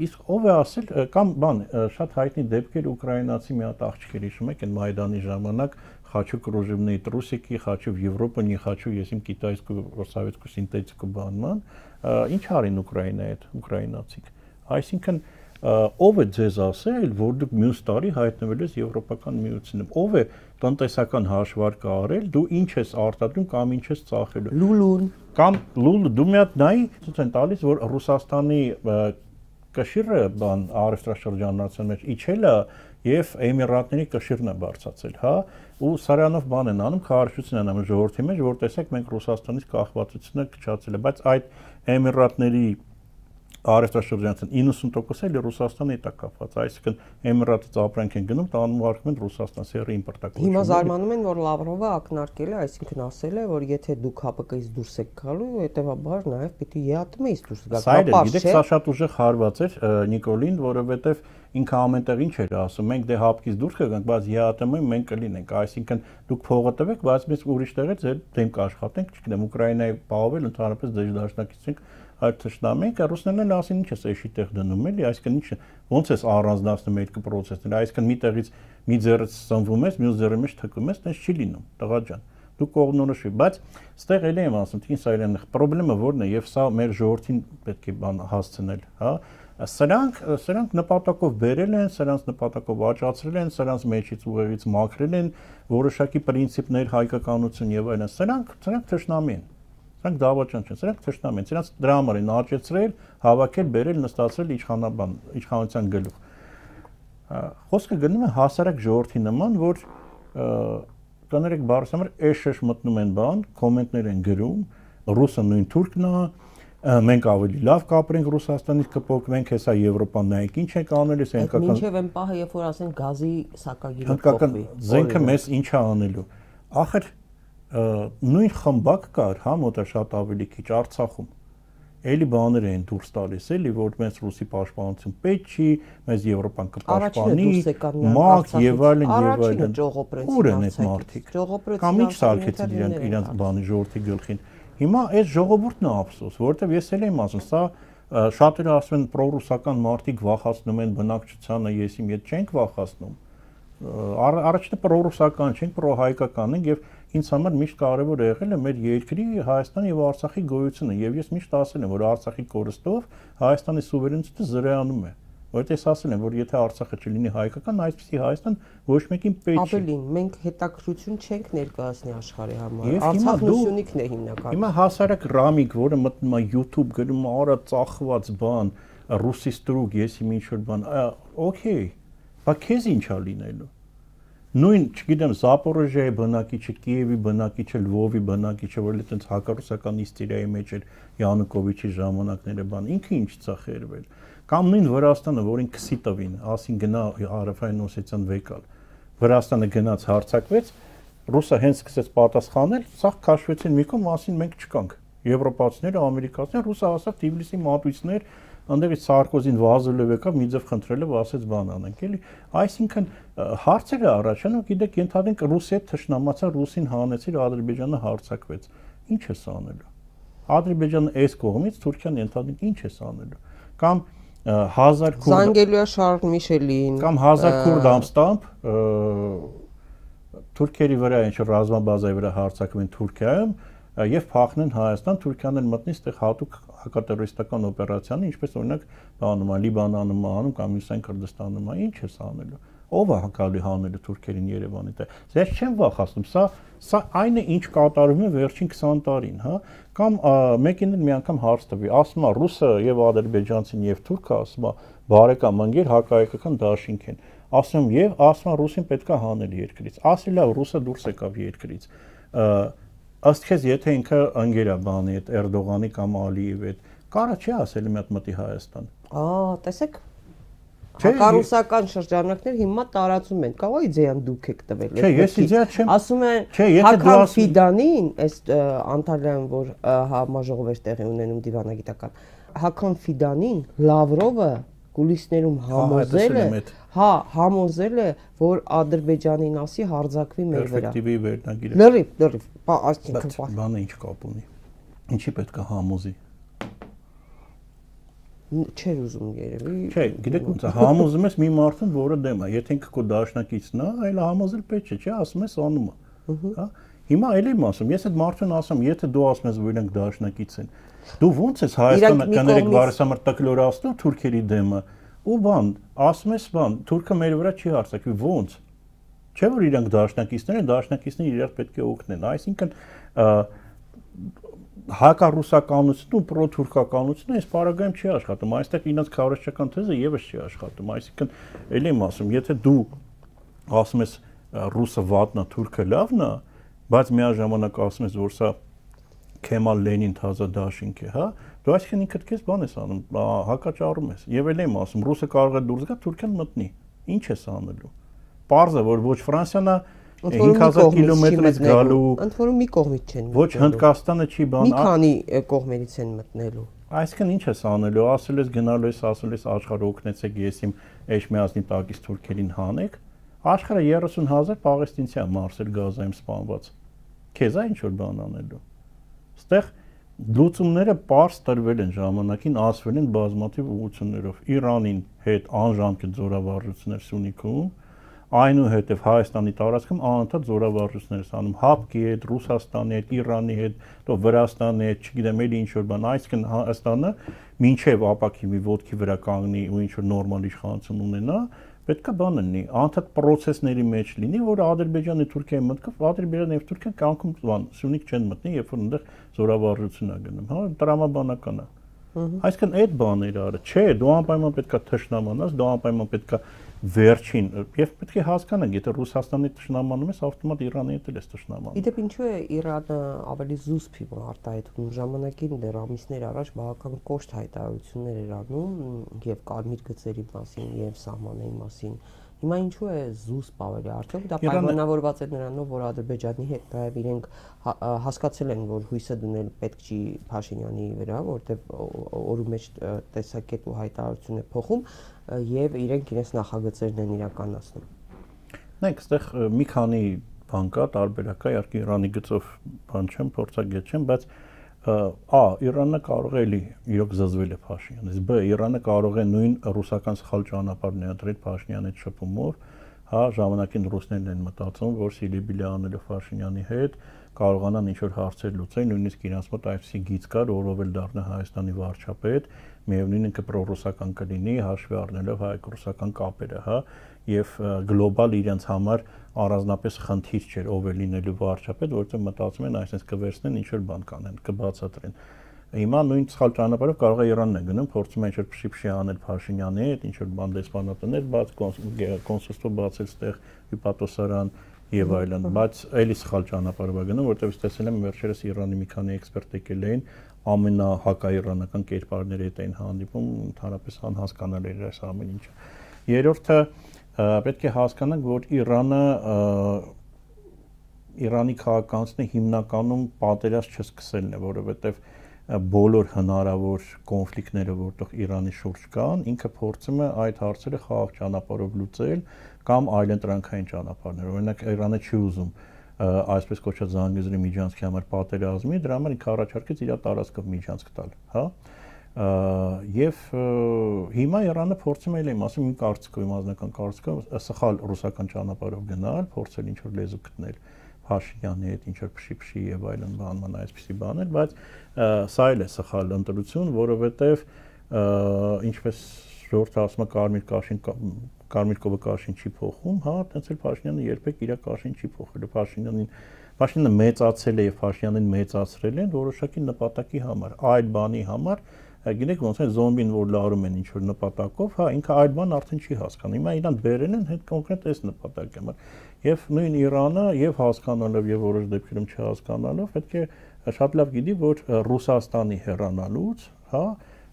իսկ ով է ասել կամ բան շատ հայտնի դեպքեր ուկրաինացի մի հատ աղջիկեր հիշում եք այն Մայդանի ժամանակ Хочу кружевные трусики, хочу в Европу, не хочу եսիմ կիտայскую советскую синтетику բանման, ինչ արին Ուկրաինայի հետ ուկրաինացիք։ Այսինքն ով է ձեզ ասել, որ դուք մյուս տարի հայտնվել ես Եվրոպական միությունում, ով է տնտեսական հաշվարկ արել, դու ինչ ես արտադրում կամ ինչ ես ծախելու։ Լուլուն Կամ լուլը դու մի հատ նայի, ցույց են տալիս, որ Ռուսաստանի կշիռը բան առևտրաշրջանության մեջ իջել է եւ Էմիրատների կշիռն է բարձրացել, հա, ու սրանով բան են անում, քարոշություն են անում ժողովրդի մեջ, որ տեսեք մենք Ռուսաստանից կախվածությունը քչացել է, բայց այդ Էմիրատների առևտրաշրջանության իննսուն տոկոս էլ Ռուսաստանի հետ է կապված, այսինքն Էմիրատից ապրանք են գնում, տանում ուղարկում են Ռուսաստան, սերի իմպորտակոչում։ Հիմա զարմանում են, որ Լավրովը ակնարկել է, այսինքն ասել է, որ եթե դուք Հ Պ Կ-ից դուրս եք գալու, հետեւաբար նաև պիտի Ե ԱՏՄ-ից դուրս գաք։ Սա էլ գիտեք, սա շատ ուժեղ հարված էր Նիկոլին, որովհետեւ ինքը ամենտեղ ինչ էր ասում, մենք դե Հ Պ Կ-ից դուրս կգանք, բայց Ե Ա ՏՄ-ին մենք կլինենք, այսինքն դուք փողը տվեք, բայց մենք ուրիշ տեղից ձեր դեմ կաշխատենք, չգիտեմ, Ուկրաինայի պահովել ընդհանրապես դժդաշնակից ենք այդ թշնամիք, ռուսներն ասին ինչ է էշի տեղ դնում էլի, այսինքն ինչ ոնց է առանձնացնում այդ process-ները, այսինքն մի տեղից մի ձեռից ծնվում ես, մյուս ձեռի մեջ թքում ես, տես չի լինում, տղա ջան։ Դու կողմնորոշվի, բայց ստեղ էլի եմ ասում, թե սա իրեն խնդրեմը որն է եւ սա մեր ժողովրդին պետք է բան հասցնել, հա։ Սրանք սրանք նպատակով բերել են, սրանց նպատակով աճացրել են, սրանց մեջից ուղեղից մաքրել են որոշակի պրինցիպներ, հայկականություն եւ այլն։ Սրանք սրանք թշնամի են։ Սրանք դավաճան չեն, սրանք թշնամի են, սրանք դրա համար են աճեցրել, հավաքել, բերել, նստացրել իշխանաբան, իշխանության գլուխ։ Խոսքը գնում է հասարակ ժողովրդի նման, որ կներեք բառս համար էշ-էշ մտնում են բան, կոմենտներ են գրում, ռուսը նույն թուրքն է, մենք ավելի լավ կապրենք Ռուսաստանից կփոխվենք, հեսա Եվրոպան նայեք ինչ եք անել, այս հնդկական մինչև այն պահը, երբ որ ասեն գազի սակագիրը հնդկական զենքը մեզ ինչ է անելու։ Ախր նույն խմբակ կար, հա, մոտը շատ ավելի քիչ Արցախում։ Էլի բաներ էին դուրս տալիս, էլի որ մեզ ռուսի պաշտպանություն պետք չի, մեզ Եվրոպան կպաշտպանի, մակ եւ այլն եւ այլն։ Ուր են այդ մարդիկ։ Կամ ինչ սարքեցին իրանք իրանք բանի ժողովրդի գլխին։ Հիմա այս ժողովուրդն է ափսոս, որովհետեւ ես էլ եմ ասում, սա շատերը ասում են պրոռուսական մարդիկ վախացնում են բնակչությանը, ես իմ հետ չենք վախացնում։ Առաջինը պրոռուսական չենք, պրոհայկական ենք եւ ինձ համար միշտ կարևոր է եղել է մեր երկրի Հայաստանի եւ Արցախի գոյությունը եւ ես միշտ ասել եմ, որ Արցախի կորստով Հայաստանի սուվերենիտետը զրոյանում է, որովհետեւ ես ասել եմ, որ եթե Արցախը չլինի հայկական, այսպեսի Հայաստան ոչ մեկին պետք չի։ Ավելին, մենք հետաքրություն չենք ներկայացնի աշխարհի համար։ Արցախն ու Սյունիքն է հիմնականում։ Հիմա հասարակ Ռամիկ, որը մտնում է YouTube գրում արա ծախված բան, ռուսի ստրուկ, ես իմ ինչ որ բան, օքեյ, բա քեզ ինչ է լինելու։ Նույն, չգիտեմ, Զապորոժիայի բնակիչը, Կիևի բնակիչը, Լվովի բնակիչը, որ այդպես հակառուսական իստերիայի մեջ էր Յանուկովիչի ժամանակները բան, ինքը ինչ ցա խերվել։ Կամ նույն Վրաստանը, որին քսի տվին, ասին գնա Հարավային Օսետիան վեկալ։ Վրաստանը գնաց հարձակվեց, ռուսը հենց սկսեց պատասխանել, սա քաշվեցին մի կողմ, ասին մենք չկանք։ Եվրոպացիները, ամերիկացիները, ռուսը ասավ Թիֆլիսի մատույցներ, անդերից Սարկոզին վազելով եկավ, մի ձև խնդրելով ասեց բան անենք, էլի։ Այսինքն հարցերը առաջանում, գիտեք, ենթադրենք Ռուսիա թշնամացա, ռուսին հանեցիր, Ադրբեջանը հարձակվեց։ Ինչ է սա անելու։ Ադրբեջանը այս կողմից Թուրքիան ենթադրենք ինչ է սա անելու։ Կամ հազար քուրդ Զանգելուա Շարլ Միշելին կամ հազար քուրդ ամստամբ թուրքերի վրա ինչ ռազմաբազայի վրա հարձակվեն Թուրքիայում եւ փախնեն Հայաստան, Թուրքիան էլ մտնի այդտեղ հատուկ հակատերորիստական օպերացիան, ինչպես օրինակ բանում է Լիբանանում անում կամ Իսրայել Քրդստանում, ինչ է սա անելու։ Ո՞վ է հակալի հանելու թուրքերին Երևանի տեղ։ Ես չեմ վախացնում, սա սա այն է, ինչ կատարվում է վերջին քսան տարին, հա, կամ մեկին էլ մի անգամ հարց տվի, ասում է ռուսը եւ ադրբեջանցին եւ թուրքը ասում է բարեկամ ընկեր հակահայկական դաշինք են։ Ասում եւ ասում է ռուսին պետքա հանել երկրից։ Ասի լավ, ռուսը դուրս եկավ երկրից։ Ըստ քեզ եթե ինքը ընկեր է բանի հետ Էրդողանի կամ Ալիևի հետ, կարա չի ասել մի հատ մտի Հայաստան։ Ահա, տեսեք։ Հակառուսական շրջանակներ հիմա տարածում են։ Կավա իդեան դուք եք տվել։ Չէ, ես իդեա չեմ։ Ասում են Հական Ֆիդանին, այս Անտալիայում որ համաժողով էր տեղի ունենում դիվանագիտական, Հական Ֆիդանին Լավրովը կուլիսներում համոզել է, հա, համոզել է, որ Ադրբեջանին ասի հարձակվի մեր վրա։ Պերսպեկտիվի վերնագիրը։ Լրիվ, լրիվ, այսինքն բանը ինչ կապ ունի։ Ինչի պետք է համոզի։ Չէր ուզում երևի։ Չէ, գիտեք ոնց է, համոզում ես մի մարդուն, որը դեմ է, եթե ինքը քո դաշնակիցն է, այլ համոզել պետք չէ, չէ, ասում ես անում է։ Հա։ Հիմա էլ եմ ասում, ես այդ մարդուն ասում, եթե դու ասում ես, որ իրանք դաշնակից են, դու ո՞նց ես Հայաստանը կներեք բարեսամար տկլորացնում թուրքերի դեմը, ու բան, ասում ես բան, թուրքը մեր վրա չի հարձակվի, ո՞նց։ Չէ՞ որ իրանք դաշնակիցներ են, դաշնակիցները իրար պետք է օգնեն, այսինքն հակառուսականությունն ու պրոթուրքականությունը այս պարագայում չի աշխատում, այստեղ իրենց քարոզչական թեզը եւս չի աշխատում, այսինքն ելի եմ ասում, եթե դու ասում ես ռուսը վատնա, թուրքը լավն է, բայց միաժամանակ ասում ես, որ սա Քեմալ Լենին թազա դաշինք է, հա, դու այսինքն ինքդ քեզ բան ես անում, հակաճառում ես, եւ ելի եմ ասում, ռուսը կարող է դուրս գա, Թուրքիան մտնի, ինչ ես անելու։ Պարզը, որ ոչ Ֆրանսիան է հինգ հազար կիլոմետրից գալու, ընդ որում մի կողմից չեն մտնելու։ Ոչ Հնդկաստանը չի բան։ Մի քանի կողմերից են մտնելու։ Այսինքն ինչ ես անելու, ասել ես գնալու ես, ասել ես աշխարհը օգնեցեք, ես իմ Էջմիածնի տակից թուրքերին հանեք, աշխարհը երեսուն հազար պաղեստինցի է Մարսել Գազայում սպանված։ Քեզ է ինչ որ բան անելու։ Այստեղ լուծումները པարզ տրվել են ժամանակին, ասվել են բազմաթիվ ուղղություններով։ Իրանին հետ անժամկետ զորավարժություններ Սյունիքում, այնուհետև Հայաստանի տարածքում անընդհատ զորավարժություններ անում ՀԱՊԿ-ի հետ, Ռուսաստանի հետ, Իրանի հետ, તો Վրաստանի հետ, չգիտեմ, էլի ինչ որ բան, այսինքն Հայաստանը մինչև ապակիվի ոտքի վրա կանգնի ու ինչ որ նորմալ իշխանություն ունենա, պետք է բան լինի, անընդհատ process-ների մեջ լինի, որ Ադրբեջանի Թուրքիայի մտքով Ադրբեջանը եւ Թուրքիան կանգնում բան, Սյունիք չեն մտնի, երբ որ այնտեղ զորավարժություն է գնում, հա, տրամաբանական է։ Այսինքն այդ բաները արը, չէ, դու անպայման պետքա թշնամանաս, դու անպայման պետքա վերջին եւ պետք է հասկանանք, եթե Ռուսաստանի թշնամանում ես, ավտոմատ Իրանի հետ էլ ես թշնամանում։ Իդեպ ինչու է Իրանը ավելի զուսպ իմ արտահայտվում ժամանակին դեռ ամիսներ առաջ բավական կոշտ հայտարարություններ էր անում եւ կարմիր գծերի մասին եւ սահմանների մասին։ Հիմա ինչու է զուսպ ավելի արդյոք դա պայմանավորված է նրանով, որ Ադրբեջանի հետ նաև իրենք հասկացել են, որ հույսը դնել պետք չի Փաշինյանի վրա, որտեղ օրու մեջ տեսակետ ու հայտարարություն է փոխում եւ իրենք իրենց նախագծերն են իրականացնում։ Նայեք, այստեղ մի քանի բան կա, տարբերակ կա, իհարկե Իրանի գծով բան չեմ, փորձագետ չեմ, բայց Ա. Իրանը կարող է էլի իրոք զզվել է Փաշինյանից, Բ. Իրանը կարող է նույն ռուսական սխալ ճանապարհ ներդրել Փաշինյանի հետ շփումով, հա, ժամանակին ռուսներն են մտածում, որ Սիլիբիլի անելը Փաշինյանի հետ կարողանան ինչ-որ հարցեր լուծել, նույնիսկ իրենց մոտ այսպիսի գիծ կար, որով էլ դառնա Հայաստանի վարչապետ, միևնույն ինքը պրոռուսական կլինի, հաշվի առնելով հայ-ռուսական կապերը, հա, եւ գլոբալ իրենց համար առանձնապես խնդիր չէր ով է լինելու վարչապետ, որովհետեւ մտածում են այսպես կվերցնեն ինչ-որ բան կանեն, կբացատրեն։ Հիմա նույն սխալ ճանապարհով կարող է Իրանն է գնում, փորձում է ինչ-որ փշի-փշի անել Փաշինյանի հետ, ինչ-որ բան դեսպանատներ բաց, կոնսուլство բացել ստեղ հյուպատոսարան եւ այլն, բայց էլի սխալ ճանապարհով է գնում, որովհետեւ տեսել եմ վերջերս Իրանի մի քանի էքսպերտ եկել էին, ամենահակաիրանական կերպարների հետ էին հանդիպում, ընդհանրապես անհասկանալի էր այս ամեն ինչը։ Երրորդը պետք է հասկանանք, որ Իրանը Իրանի քաղաքացիները հիմնականում պատերազմ չսկսելն է, որովհետև բոլոր հնարավոր կոնֆլիկտները, որտեղ Իրանի շուրջ կան, ինքը փորձում է այդ հարցերը խաղաղ ճանապարհով լուծել կամ այլընտրանքային ճանապարհներ։ Օրինակ Իրանը չի ուզում այսպես կոչված Զանգեզուրի միջանցքի համար պատերազմի, դրա համար ինքը առաջարկեց իր տարածքով միջանցք տալ, հա։ Եվ հիմա Իրանը փորձում է իմ ասում իմ կարծիքով, իմ անձնական կարծիքով սխալ ռուսական ճանապարհով գնալ, փորձել ինչ-որ լեզու գտնել Փաշինյանի հետ, ինչ-որ փշի-փշի եւ այլն բանման այսպիսի բաներ, բայց սա էլ է սխալ ընտրություն, որովհետեւ ինչպես ժողովուրդը ասում է կարմիր կաշին կարմիր կովը կաշին չի փոխում, հա, տենց էլ Փաշինյանը երբեք իր կաշին չի փոխել, Փաշինյանին Փաշինյանը մեծացել է եւ Փաշինյանին մեծացրել են որոշակի նպատակի համար, այլ բանի համար Գիտեք ոնց է զոմբին որ լարում են ինչ որ նպատակով, հա, ինքը այլ բան արդեն չի հասկանում։ Հիմա իրան բերել են հետ կոնկրետ այս նպատակի համար։ Եւ նույն Իրանը եւ հասկանալով եւ որոշ դեպքերում չհասկանալով պետք է շատ լավ գիտի, որ Ռուսաստանի հեռանալուց, հա,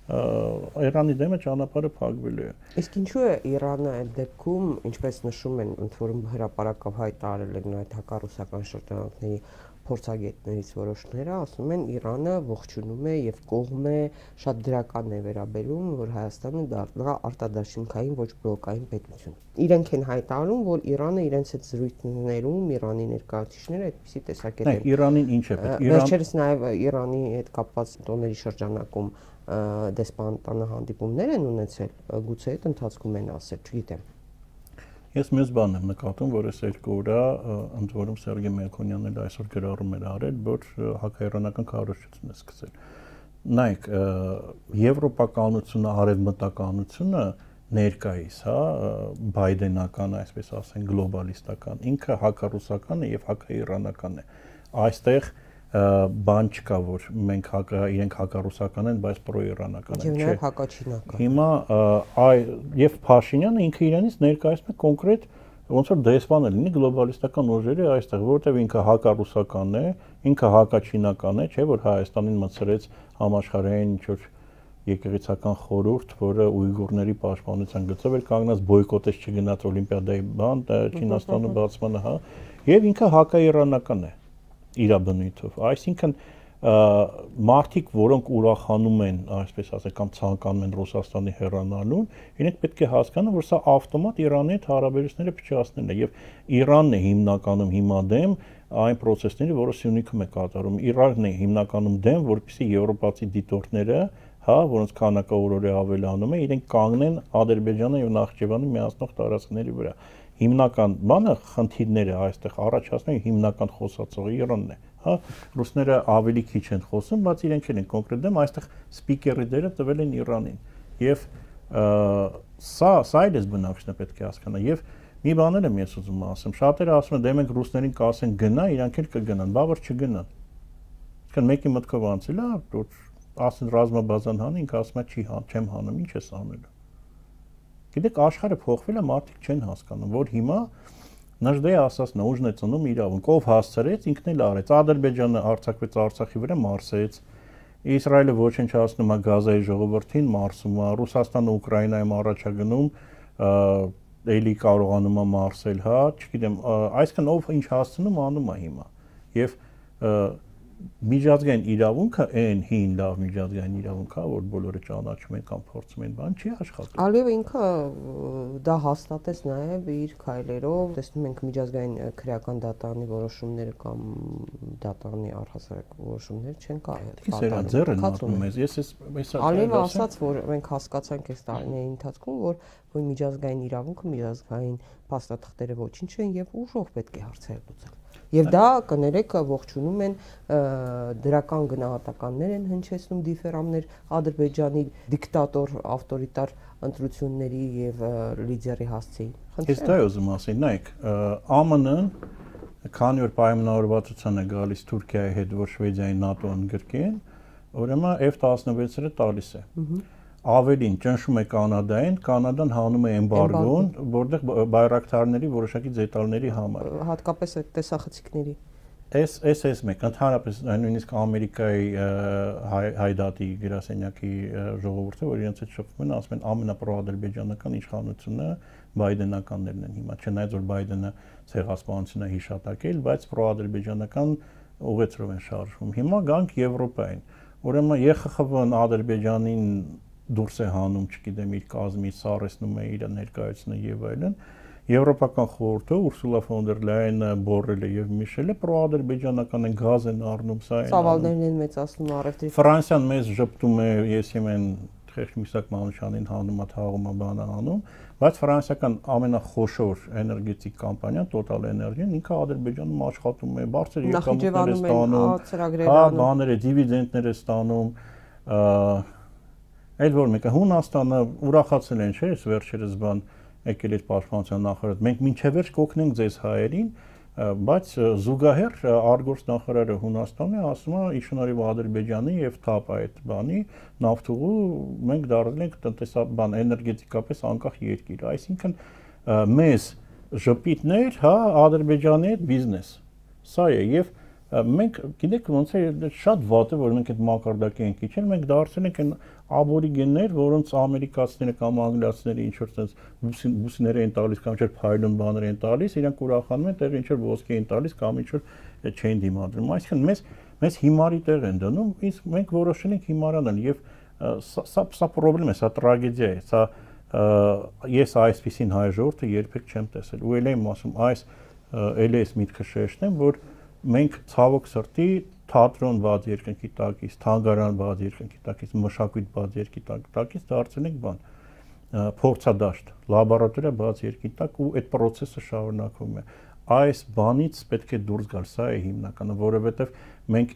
Իրանի դեմը ճանապարհը փակվելու է։ Իսկ ինչու է Իրանը այդ դեպքում, ինչպես նշում են, ընդ որում հրապարակավ հայտարարել են այդ հակառուսական շրջանակների փորձագետներից որոշները, ասում են Իրանը ողջունում է եւ կողմ է, շատ դրական է վերաբերում, որ Հայաստանը դառնա արտադաշինքային ոչ բլոկային պետություն։ Իրենք են հայտարարում, որ Իրանը իրենց այդ զրույցներում Իրանի ներկայացուցիչները այդպիսի տեսակետ են։ Իրանին ինչ է պետք։ Վերջերս նաեւ Իրանի հետ կապված տոների շրջանակում դեսպանատանը հանդիպումներ են ունեցել, գուցե այդ ընթացքում են ասել, չգիտեմ։ Ես մեծ բան եմ նկատում, որ այս երկու օրա ընդ որում Սերգեյ Մելքոնյանն էլ այսօր գրառում էր արել, որ հակաիրանական քարոզչություն է սկսել։ Նայեք, եվրոպականությունը, արևմտականությունը ներկայիս, հա, բայդենական, այսպես ասեն, գլոբալիստական, ինքը հակառուսական է եւ հակաիրանական է։ Այստեղ բան չկա, որ մենք հակա իրենք հակառուսական են, բայց պրոիրանական են, չէ։ Հակաչինական։ Հիմա այ եւ Փաշինյանը ինքը իրանից ներկայացնում է կոնկրետ ոնց որ դեսպանը լինի գլոբալիստական ուժերի այստեղ, որովհետեւ ինքը հակառուսական է, ինքը հակաչինական է, չէ՞ որ Հայաստանին մցրեց համաշխարհային ինչ որ եկեղեցական խորհուրդ, որը ուйգուրների պաշտպանության գծով էր կանգնած, բոյկոտեց չգնաց օլիմպիադայի բան, Չինաստանը բացմանը, հա, եւ ինքը հակաիրանական է իր բնույթով, այսինքն մարդիկ, որոնք ուրախանում են, այսպես ասենք, կամ ցանկանում են Ռուսաստանի հեռանալուն, իրենք պետք է հասկանան, որ սա ավտոմատ Իրանի հետ հարաբերությունները փչացնելն է եւ Իրանն է հիմնականում հիմա դեմ այն process-ների, որը Սյունիքում է կատարում։ Իրանն է հիմնականում դեմ, որպեսզի եվրոպացի դիտորդները, հա, որոնց քանակը օրորե ավելանում է, իրենք կանգնեն Ադրբեջանը եւ Նախճեվանը միացնող տարածքների վրա։ Հիմնական բանը խնդիրները այստեղ առաջացնում հիմնական խոսացողը Իրանն է, հա, ռուսները ավելի քիչ են խոսում, բայց իրենք են կոնկրետ դեմ այստեղ սպիկերի դերը տվել են Իրանին։ Եվ սա սա էլ է բնակչությունը պետք է հասկանա եւ մի բան էլ եմ ես ուզում ասեմ, շատերը ասում են դե մենք ռուսներին կասեն գնա, իրանք էլ կգնան, բա որ չգնան։ Այսինքն մեկի մտքով անցել է, որ ասեն ռազմաբազան հան, ինքը ասում է չի հան, չեմ հանում, ինչ ես անելու։ Գիտեք, աշխարհը փոխվել է, մարդիկ չեն հասկանում, որ հիմա Նժդեի ասած նուժն է ծնում իրավունք, ով հասցրեց, ինքն էլ արեց։ Ադրբեջանը արձակվեց Արցախի վրա, մարսեց։ Իսրայելը ոչնչացնում է Գազայի ժողովրդին, մարսում է, Ռուսաստանը Ուկրաինայում առաջագնում, էլի կարողանում է մարսել, հա, չգիտեմ, այսքան ով ինչ հասցնում անում է հիմա։ Եվ միջազգային իրավունքը այն հին լավ միջազգային իրավունք է, որ բոլորը ճանաչում են կամ փորձում են, բան չի աշխատում։ Ալիևը ինքը դա հաստատեց նաև իր քայլերով, տեսնում ենք միջազգային քրեական դատարանի որոշումները կամ դատարանի առհասարակ որոշումները չեն կատարում։ Ալիևը ասաց, որ մենք հասկացանք այս տարիների ընթացքում, որ որ միջազգային իրավունքը, միջազգային փաստաթղթերը ոչինչ են եւ ուժով պետք է հարցեր լուծել։ Եվ դա կներեք ողջունում են դրական գնահատականներ են հնչեցնում դիֆերամներ Ադրբեջանի դիկտատոր ավտորիտար ընտրությունների եւ լիդերի հասցեին։ Ես դա ուզում ասել, նայեք, ԱՄՆ-ն քանի որ պայմանավորվածության է գալիս Թուրքիայի հետ, որ Շվեդիային ՆԱՏՕ-ն գրկեն, ուրեմն F տասնվեցը տալիս է։ Ավելին ճնշում է Կանադային, Կանադան հանում է էմբարգոն, որտեղ բայրակտարների որոշակի դետալների համար։ Հատկապես այդ տեսախցիկների։ Էս էս էս մեկ ընդհանրապես նույնիսկ Ամերիկայի հայդատի գրասենյակի ժողովուրդը, որ իրենց հետ շփվում են, ասում են ամենապրոադրբեջանական իշխանությունը բայդենականներն են հիմա, չնայած որ Բայդենը ցեղասպանություն է հիշատակել, բայց պրոադրբեջանական ուղեցրով են շարժվում։ Հիմա գանք Եվրոպային։ Ուրեմն Ե Խ Խ V-ն Ադրբեջանին դուրս է հանում, չգիտեմ, իր կազմից սարեցնում է իր ներկայությունը եւ այլն։ Եվրոպական խորհուրդը Ուրսուլա ֆոն դեր Լայենը, Բորելը եւ Միշելը պրոադրբեջանական են գազ են առնում, սա են։ Ծավալներն են մեծացնում առևտրի։ Ֆրանսիան մեզ ժպտում է, ես եմեն Խեղճ Միսակ Մանուշյանին հանում է, թաղում է, բանը անում, բայց ֆրանսիական ամենախոշոր էներգետիկ կամպանիան Total Energy-ն ինքը Ադրբեջանում աշխատում է, բարձր եկամուտներ է ստանում, հա, բաներ է, դիվիդենդներ է ստանում, այլ որ մեկը Հունաստանը ուրախացել են, չէ՞, վերջերս բան եկել էր պաշտպանության նախարարը, մենք մինչև վերջ կօգնենք ձեզ հայերին, բայց զուգահեռ արգործ նախարարը Հունաստանի ասում է ի շնորհիվ Ադրբեջանի եւ ԹԱՊ այդ բանի նավթուղու մենք դարձել ենք տնտեսաբան էներգետիկապես անկախ երկիր, այսինքն մեզ ժպիտներ, հա, Ադրբեջանի հետ բիզնես։ Սա է եւ մենք գիտեք ոնց է շատ վատ է որ մենք այդ մակարդակի ենք իջել, մենք դարձել ենք այն աբորիգեններ, որոնց ամերիկացիները կամ անգլիացիները ինչ որ sense բուսիներ են տալիս կամ ինչ որ փայլուն բաներ են տալիս, իրանք ուրախանում են, տեղ ինչ որ ոսկե են տալիս կամ ինչ որ չեն դիմադրում։ Այսինքն մեզ մեզ հիմարի տեղ են դնում, իսկ մենք որոշել ենք հիմարանալ եւ սա սա խնդրեմ է, սա տրագեդիա է, սա ես այսպեսին հայ ժողովուրդը երբեք չեմ տեսել։ Ու ել եմ ասում, այս ել էս միտքը շեշտեմ, որ մենք ցավոք սրտի թատրոն բաց երկնքի տակից, թանգարան բաց երկնքի տակից, մշակույթ բաց երկնքի տակից դարձել ենք բան, փորձադաշտ, լաբորատորիա բաց երկնքի տակ ու այդ process-ը շարունակվում է։ Այս բանից պետք է դուրս գալ, սա է հիմնականը, որովհետև մենք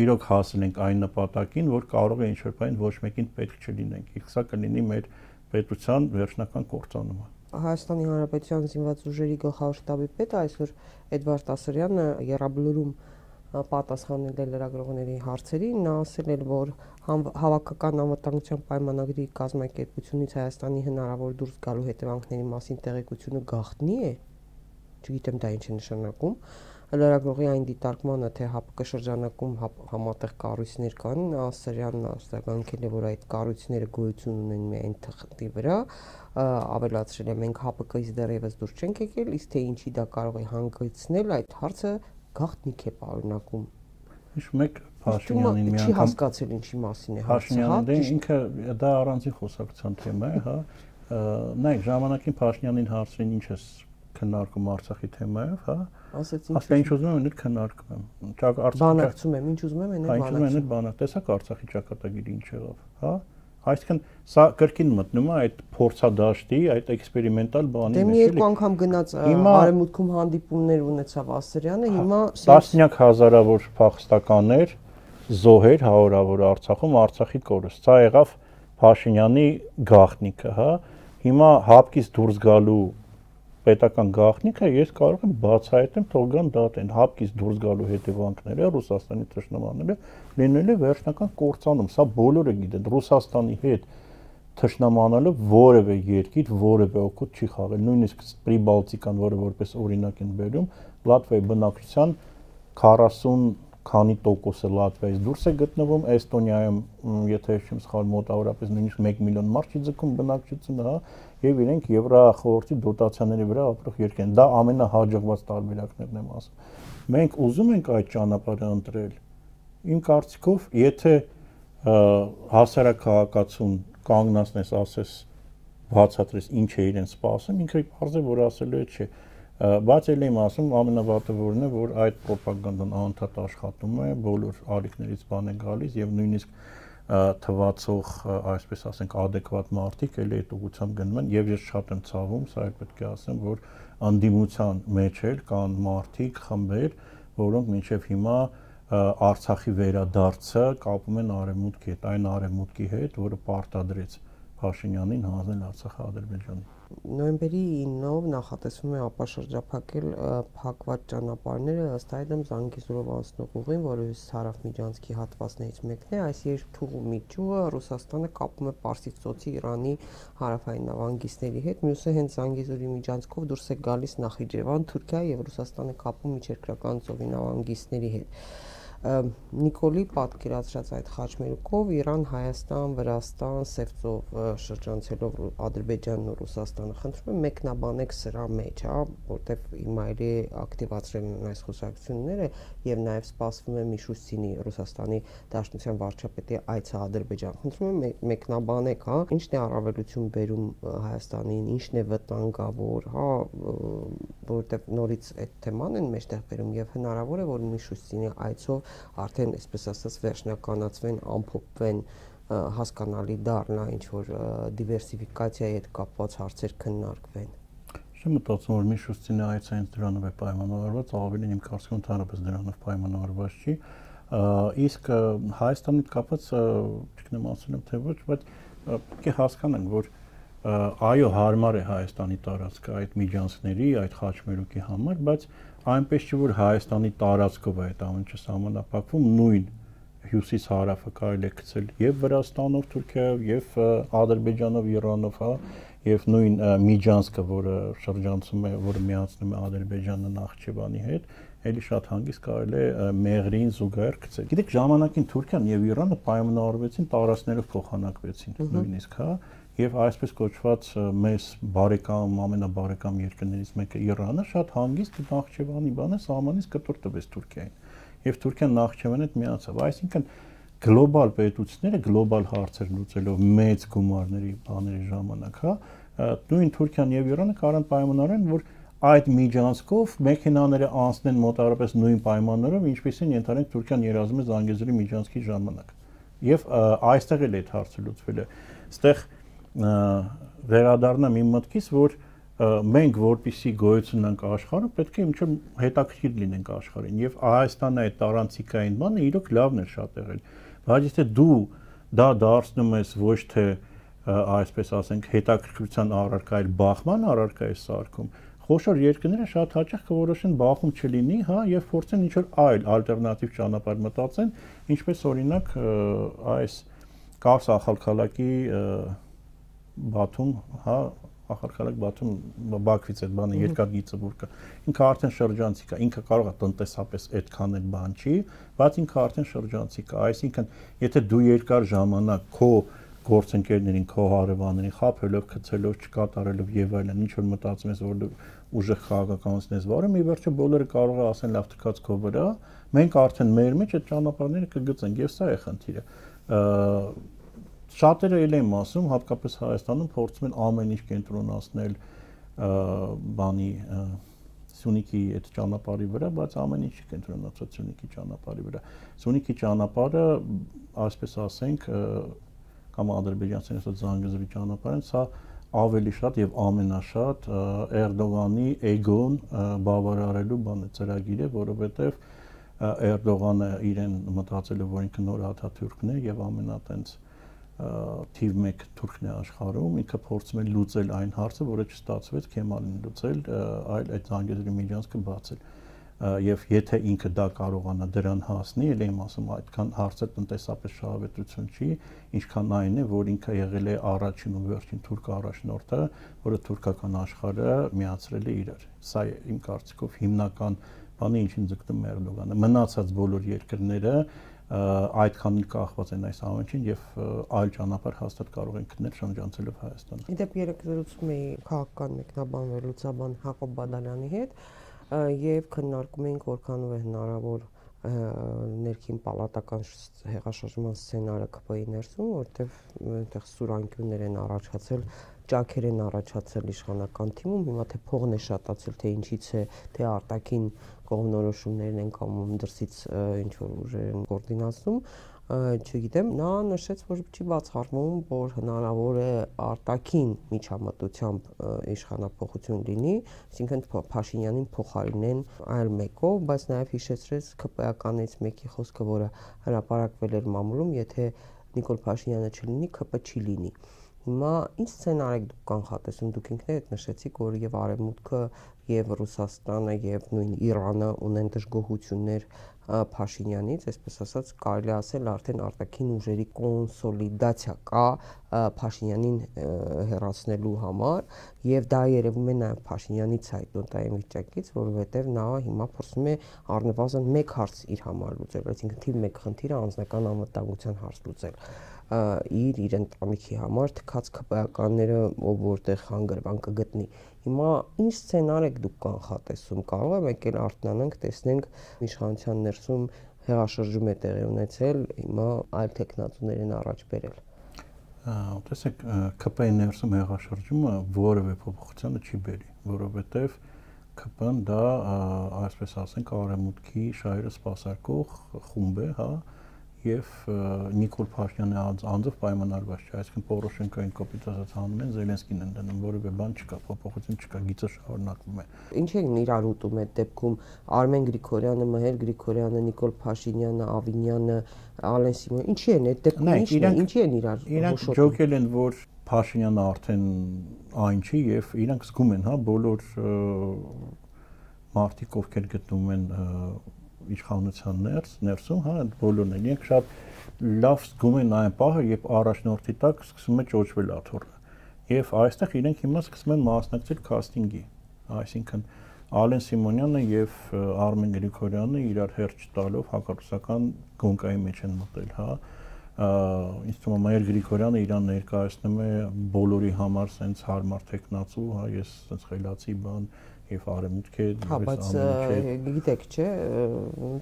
իրոք հասել ենք այն նպատակին, որ կարող է ինչ-որ բան ոչ մեկին պետք չլինենք։ Իսկ սա կլինի մեր պետության վերջնական կործանումը։ Հայաստանի Հանրապետության զինված ուժերի գլխավոր շտաբի պետը այսօր Էդվարդ Ասրյանը Եռաբլուրում պատասխանել է լրագրողների հարցերին, նա ասել էր, որ հավաքական անվտանգության պայմանագրի կազմակերպությունից Հայաստանի հնարավոր դուրս գալու հետևանքների մասին տեղեկությունը գաղտնի է, չգիտեմ դա ինչ է նշանակում, լրագրողի այն դիտարկմանը, թե ՀԱՊԿ շրջանակում համատեղ կառույցներ կան, Ասրյանն արձագանքել է, որ այդ կառույցները գոյություն ունեն միայն թղթի վրա, ավելացրել է մենք ՀԱՊԿ-ից դեռևս դուրս չենք եկել, իսկ թե ինչի դա կարող է հանգեցնել, այդ հարցը գաղտնիք է պարունակում։ Ինչ մեկ Փաշինյանին մի անգամ չի հասկացել ինչի մասին է հարցը, հա, Փաշինյանն ինքը դա առանձին խոսակցության թեմա է, հա։ Նայեք, ժամանակին Փաշինյանին հարցրին ինչ է քննարկում Արցախի թեմայով, հա։ Ասեց ինչ ինչ ուզում եմ, այդ քննարկում եմ։ Բանակցում եմ, ինչ ուզում եմ, այն բանակցում։ Բանակ, տեսակ Արցախի ճակատագիրը ինչ եղավ, հա։ Այսինքն սա կրկին մտնում է այդ փորձադաշտի, այդ էքսպերիմենտալ բանի մեջ։ Դե մի երկու անգամ գնաց Արևմուտքում հանդիպումներ ունեցավ Ասրյանը, հիմա տասնյակ հազարավոր փախստականներ, զոհեր հարյուրավոր Արցախում, Արցախի կորուստ։ Սա եղավ Փաշինյանի գաղտնիքը, հա։ Հիմա ՀԱՊԿ-ից դուրս գալու պետական գաղտնիքը ես կարող եմ բացահայտեմ թող գան դատեն հապկից դուրս գալու հետևանքները Ռուսաստանի թշնամանները լինելու վերջնական կործանում սա բոլորը գիտեն Ռուսաստանի հետ թշնամանալը որևէ երկիր որևէ օգուտ չի խաղել նույնիսկ Պրիբալտիկան որը որպես օրինակ են բերում Լատվիայի բնակչության քառասուն քանի տոկոսը Լատվիայից դուրս է գտնվում Էստոնիայում եթե չեմ սխալ մոտավորապես նույնիսկ մեկ միլիոն մարդ չի ձգում բնակչությունը հա եւ իրենք Եվրախորհրդի դոտացիաների վրա ապրող երկիր են դա ամենահաջողված տարբերակներն եմ ասում մենք ուզում ենք այդ ճանապարհը ընտրել իմ կարծիքով եթե հասարակ քաղաքացուն կանգնացնես ասես բացատրես ինչ է իրեն սպասում ինքը բարձր որ ասելու է չէ բայց էլ եմ ասում ամենավատը որն է որ այդ ռոպագանդան անընդհատ աշխատում է բոլոր ալիքներից բան է գալիս եւ նույնիսկ թվացող այսպես ասենք adekvat մարդիկ էլի այդ ուղղությամբ գնում են եւ ես շատ եմ ցավում սա էլ պետք է ասեմ որ անդիմության մեջ էլ կան մարդիկ խմբեր որոնք մինչեւ հիմա Արցախի վերադարձը կապում են արևմուտքի հետ այն արևմուտքի հետ որը պարտադրեց Փաշինյանին հանձնել Արցախը Ադրբեջանին Նոյեմբերի ինով նախատեսվում է ապաշրջափակել փակված ճանապարհները ըստ այդմ Զանգեզուրով անցնող ուղին, որը Հարավմիջանցքի հատվածներից մեկն է, այս երկթուղու միջուկը Ռուսաստանը կապում է Պարսից ծոցի Իրանի հարավային նավանգիստների հետ, մյուսը հենց Զանգեզուրի միջանցքով դուրս է գալիս Նախիջևան, Թուրքիա եւ Ռուսաստանը կապում միջերկրական ծովի նավանգիստների հետ։ Նիկոլի պատկերացրած այդ խաչմերուկով Իրան, Հայաստան, Վրաստան, Սևծով շրջանցելով Ադրբեջանն ու Ռուսաստանը խնդրում եմ մեկնաբանեք սրա մեջ, հա, որտեվ հիմա էլի ակտիվացրել են այս խոսակցությունները եւ նաեւ սպասվում է Միշուստինի Ռուսաստանի Դաշնության վարչապետի այցը Ադրբեջան։ Խնդրում եմ մեկնաբանեք, հա, ինչն է առավելություն բերում Հայաստանին, ինչն է վտանգավոր, հա, որտեվ նորից այդ թեման են մեջտեղ բերում եւ հնարավոր է որ Միշուստինի այցով արդեն այսպես ասած վերջնականացվեն, ամփոփվեն հասկանալի դառնա ինչ որ դիվերսիֆիկացիայի հետ կապված հարցեր քննարկվեն։ Չեմ մտածում որ Միշուստինի այցը հենց դրանով է պայմանավորված, ավելին իմ կարծիքով ընդհանրապես դրանով պայմանավորված չի։ Իսկ Հայաստանի հետ կապված չգիտեմ ասել եմ թե ոչ, բայց պետք է հասկանանք, որ այո, հարմար է Հայաստանի տարածքը այդ միջանցքների, այդ խաչմերուկի համար, բայց այնպես չի որ Հայաստանի տարածքով է այդ ամենը սահմանափակվում նույն հյուսիս հարավը կարելի է գցել եւ Վրաստանով, Թուրքիայով եւ Ադրբեջանով, Իրանով, հա, եւ նույն միջանցքը, որը շրջանցում է, որը միացնում է Ադրբեջանը Նախիջևանի հետ, էլի շատ հանգիստ կարելի է Մեղրին զուգահեռ գցել։ Գիտեք, ժամանակին Թուրքիան եւ Իրանը պայմանավորվեցին տարածքներով փոխանակվեցին նույնիսկ, հա, եւ այսպես կոչված մեծ բարեկամ, ամենաբարեկամ երկրներից մեկը Իրանը շատ հանգիստ Նախիջևանի բանը սահմանից կտոր տվեց Թուրքիային։ Եվ Թուրքիան Նախիջևանի հետ միացավ, այսինքն գլոբալ պետությունները գլոբալ հարցեր լուծելով մեծ գումարների բաների ժամանակ, հա, նույն Թուրքիան եւ Իրանը կարան պայմանավորեն, որ այդ միջանցքով մեքենաները անցնեն մոտավորապես նույն պայմաններով, ինչպեսին ենթադրենք Թուրքիան երազում է Զանգեզուրի միջանցքի ժամանակ։ Եվ այստեղ էլ այդ հարցը լուծվել է։ Այստեղ վերադառնամ իմ մտքից, որ մենք որպիսի գոյություն ունենք աշխարհում, պետք է ինչ-որ հետաքրքիր լինենք աշխարհին եւ Հայաստանը այդ տարանցիկային բանը իրոք լավն է շատ եղել, բայց եթե դու դա դարձնում ես ոչ թե այսպես ասենք հետաքրքրության առարկա, այլ բախման առարկա ես սարքում, խոշոր երկրները շատ հաճախ կորոշեն բախում չլինի, հա, եւ փորձեն ինչ-որ այլ ալտերնատիվ ճանապարհ մտածեն, ինչպես օրինակ այս Կարս Ախալքալակի Բաթում, հա, Ախալքալակ Բաթում Բաքվից այդ բանը երկաթգիծը որ կա։ Ինքը արդեն շրջանցիկ է, ինքը կարող է տնտեսապես այդքան էլ բան չի, բայց ինքը արդեն շրջանցիկ է, այսինքն եթե դու երկար ժամանակ քո գործընկերներին, քո հարևաններին խափելով, գցելով, չկատարելով եւ այլն, ինչ որ մտածում ես, որ դու ուժեղ քաղաքականությունից վարում, ի վերջո բոլորը կարող է ասեն լավ թքած քո վրա, մենք արդեն մեր մեջ այդ ճանապարհները կգծենք եւ սա է խնդիրը։ Շատերը էլ եմ ասում, հատկապես Հայաստանում փորձում են ամեն ինչ կենտրոնացնել բանի Սյունիքի այդ ճանապարհի վրա, բայց ամեն ինչ կենտրոնացած Սյունիքի ճանապարհի վրա։ Սյունիքի ճանապարհը, այսպես ասենք, կամ ադրբեջանցիների ասած Զանգեզուրի ճանապարհն, սա ավելի շատ եւ ամենաշատ Էրդողանի էգոն բավարարելու բանը ծրագիր է, որովհետեւ Էրդողանը իրեն մտածել է, որ ինքը նոր Աթաթուրքն է եւ ամենատենց թիվ մեկ թուրքն է աշխարհում, ինքը փորձում է լուծել այն հարցը, որը չստացվեց Քեմալին լուծել, այլ այդ Զանգեզուրի միջանցքը բացել։ Եվ եթե ինքը դա կարողանա դրան հասնի, ելի եմ ասում, այդքան հարցը տնտեսապես շահավետություն չի, ինչքան այն է, որ ինքը եղել է առաջին ու վերջին թուրք առաջնորդը, որը թուրքական աշխարհը միացրել է իրար։ Սա իմ կարծիքով հիմնական բանը, ինչին ձգտում է Էրդողանը։ Մնացած բոլոր երկրները այդքան կախված են այս ամենին եւ այլ ճանապարհ հաստատ կարող են գտնել շրջանցելով Հայաստանը։ Իդեպ երեք զրուցում էի քաղաքական մեկնաբան վերլուծաբան Հակոբ Բադալյանի հետ եւ քննարկում էինք որքանով է հնարավոր ներքին պալատական հեղաշրջման սցենարը ԿՊ-ի ներսում, որտեղ այնտեղ սուրանկյուններ են առաջացել, ճաքեր են առաջացել իշխանական թիմում, հիմա թե փողն է շատացել, թե ինչից է, թե արտաքին կողմնորոշումներն են կամ դրսից ինչ որ ուժեր են կոորդինացնում, չգիտեմ, նա նշեց, որ չի բացառվում, որ հնարավոր է արտաքին միջամտությամբ իշխանափոխություն լինի, այսինքն Փաշինյանին փոխարինեն այլ մեկով, բայց նաև հիշեցրեց ԿՊ-ականից մեկի խոսքը, որը հրապարակվել էր մամուլում, եթե Նիկոլ Փաշինյանը չլինի, ԿՊ չի լինի։ Հիմա ինչ սցենար եք դուք կանխատեսում, դուք ինքներդ նշեցիք, որ եւ Արևմուտքը եւ Ռուսաստանը եւ նույն Իրանը ունեն դժգոհություններ Փաշինյանից, այսպես ասած, կարելի ասել արդեն արտաքին ուժերի կոնսոլիդացիա կա Փաշինյանին հեռացնելու համար եւ դա երևում է նաեւ Փաշինյանի ցայտոտային վիճակից, որովհետեւ նա հիմա փորձում է առնվազն մեկ հարց իր համար լուծել, այսինքն թիվ մեկ խնդիրը անձնական անվտանգության հարց լուծել իր իր ընտանիքի համար թքած ԿՊ-ականները ով որտեղ հանգրվան կգտնի։ Հիմա ինչ սցենար եք դուք կանխատեսում, կարող է եկել արթնանանք, տեսնենք իշխանության ներսում հեղաշրջում է տեղի ունեցել, հիմա այլ տեխնացուներ են առաջ բերել։ Տեսեք, ԿՊ-ի ներսում հեղաշրջումը որևէ փոփոխությանը չի բերի, որովհետև ԿՊ-ն դա, այսպես ասենք, արևմուտքի շահերը սպասարկող խումբ է, հա, եւ Նիկոլ Փաշինյանի անձով պայմանավորված չէ, այսինքն Պորոշենկոին կոպիտ անում են, Զելենսկին են դնում, որևէ բան չկա, փոփոխություն չկա, գիծը շարունակվում է։ Ինչ են իրար ուտում այդ դեպքում Արմեն Գրիգորյանը, Մհեր Գրիգորյանը, Նիկոլ Փաշինյանը, Ավինյանը, Ալեն Սիմոնյանը, ինչի են այդ դեպքում ինչի են, ինչի են իրար իրանք ջոկել են, որ Փաշինյանը արդեն այն չի եւ իրանք զգում են, հա, բոլոր մարդիկ, ովքեր գտնվում են իշխանության ներս, ներսում, հա, այդ բոլորն են, իրենք շատ լավ զգում են այն պահը, երբ առաջնորդի տակ սկսում է ճոճվել աթոռը։ Եվ այստեղ իրենք հիմա սկսում են մասնակցել քաստինգի, այսինքն Ալեն Սիմոնյանը եւ Արմեն Գրիգորյանը իրար հերթ տալով հակառուսական գոնկայի մեջ են մտել, հա։ Ինձ թվում է Մհեր Գրիգորյանը իրան ներկայացնում է բոլորի համար սենց հարմար տեխնացու, հա, ես սենց խելացի բան եւ արևմուտք է, հա, բայց գիտեք, չէ,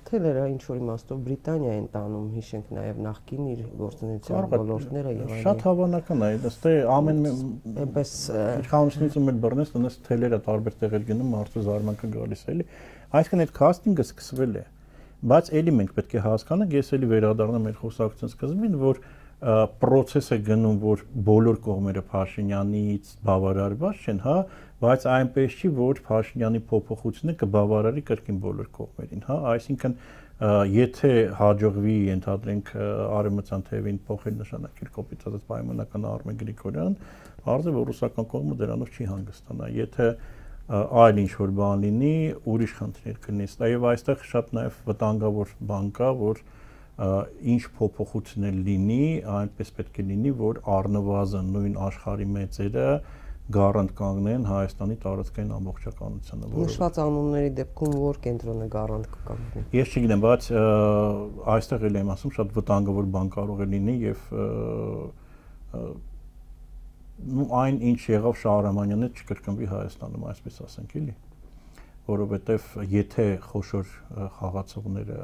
թելերը ինչ որ իմաստով Բրիտանիա են տանում, հիշենք նաեւ նախկին իր գործունեության ոլորտները եւ այլն։ Շատ հավանական է, ըստ է ամեն այնպես իշխանությունից ու մեր բռնես տնես թելերը տարբեր տեղեր գնում, մարդու զարմանքը գալիս է, էլի։ Այսինքն այդ քաստինգը սկսվել է, բայց էլի մենք պետք է հասկանանք, ես էլի վերադառնամ մեր խոսակցության սկզբին, որ process է գնում, որ բոլոր կողմերը Փաշինյանից բավարարված չեն, հա, բայց այնպես չի, որ Փաշինյանի փոփոխությունը կբավարարի կրկին բոլոր կողմերին, հա, այսինքն եթե հաջողվի ենթադրենք արևմտյան թևին փոխել նշանակել կոպիտ պայմանական Արմեն Գրիգորյան, արդյոք որ ռուսական կողմը դրանով չի հանգստանա, եթե այլ ինչ որ բան լինի, ուրիշ խնդիրներ կլինի, եւ այստեղ շատ նաեւ վտանգավոր բան կա, որ ինչ փոփոխություններ լինի, այնպես պետք է լինի, որ առնվազն նույն աշխարհի մեծերը գարանտ կանգնեն Հայաստանի տարածքային ամբողջականությանը։ Նշված անունների դեպքում որ կենտրոնը գարանտ կկանգնի։ Ես չգիտեմ, բայց այստեղ էլ եմ ասում, շատ վտանգավոր բան կարող է լինի եւ այն ինչ եղավ Շահրամանյանը չկրկնվի Հայաստանում, այսպես ասենք, էլի, որովհետեւ եթե խոշոր խաղացողները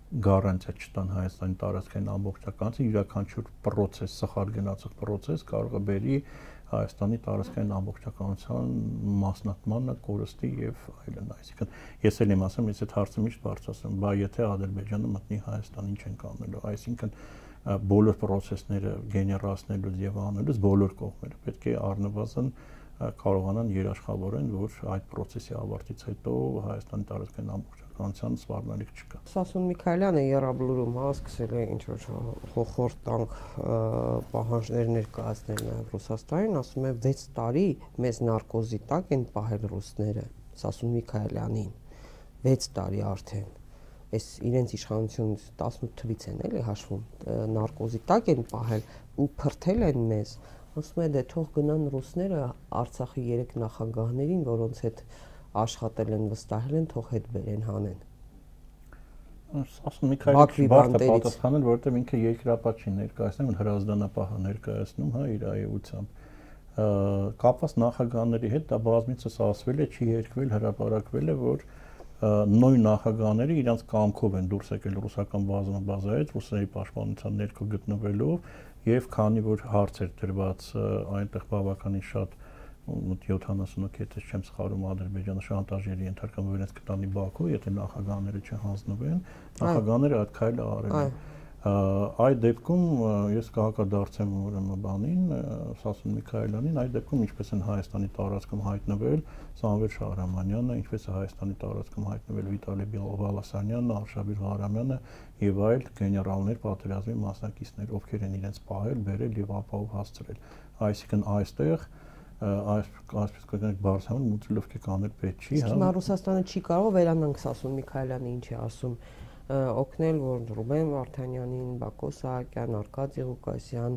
գարանտիա չտան Հայաստանի տարածքային ամբողջականության, յուրաքանչյուր process, սխալ գնացող process կարող է բերի Հայաստանի տարածքային ամբողջականության մասնատմանը, կորստի եւ այլն, այսինքն ես էլ եմ ասում, ես այդ հարցը միշտ բարձրացնում, բա եթե Ադրբեջանը մտնի Հայաստան, ինչ են կանելու, այսինքն բոլոր process-ները գեներացնելուց եւ անելուց բոլոր կողմերը պետք է առնվազն կարողանան երաշխավորեն, որ այդ process-ի ավարտից հետո Հայաստանի տարածքային ամբողջականությունը քաղաքականության սպառնալիք չկա։ Սասուն Միքայելյանը Եռաբլուրում հա սկսել է ինչ որ խորտանք պահանջներ ներկայացնել նաև Ռուսաստանին, ասում է վեց տարի մեզ նարկոզի տակ են պահել ռուսները, Սասուն Միքայելյանին, վեց տարի արդեն։ Այս իրենց իշխանությունից տասնութ թվից են էլի հաշվում, նարկոզի տակ են պահել ու փրթել են մեզ։ Ասում է դե թող գնան ռուսները Արցախի երեք նախագահներին, որոնց հետ աշխատել են, վստահել են, թող հետ բերեն հանեն։ Ասում Միքայելը բարդ է պատասխանել, որովհետև ինքը երկրապատ չի ներկայացնում, հրազդանապահ է ներկայացնում, հա, իր այությամբ։ Կապված նախագահների հետ դա բազմիցս ասվել է, չի երկվել, հրապարակվել է, որ նույն նախագահները իրանց կամքով են դուրս եկել ռուսական բազմաբազայից, ռուսների պաշտպանության ներքո գտնվելով, եւ քանի որ հարց էր դրված այնտեղ բավականին շատ մոտ յոթանասուն եթե չեմ սխալվում Ադրբեջանը շանտաժերի ենթարկվում որ իրենց կտանի Բաքու, եթե նախագահները չհանձնվեն, նախագահները այդ քայլը արել են։ Այդ դեպքում ես կհակադարձեմ ուրեմն բանին, Սասուն Միքայելյանին, այդ դեպքում ինչպես են Հայաստանի տարածքում հայտնվել Սամվել Շահրամանյանը, ինչպես է Հայաստանի տարածքում հայտնվել Վիտալի Բալասանյանը, Արշավիր Ղարամյանը եւ այլ գեներալներ, պատերազմի մասնակիցներ, ովքեր են իրենց պահել, բերել եւ ապահով հասցրել։ Այսինքն այստեղ այս այսպես կգնանք բարձրանում մուտլովքի կանել պետք չի, հա։ Հիմա Ռուսաստանը չի կարող վերանանք Սասուն Միքայելյանը ինչ է ասում, օգնել, որ Ռուբեն Վարդանյանին, Բակո Սահակյան, Արկադի Ղուկասյան,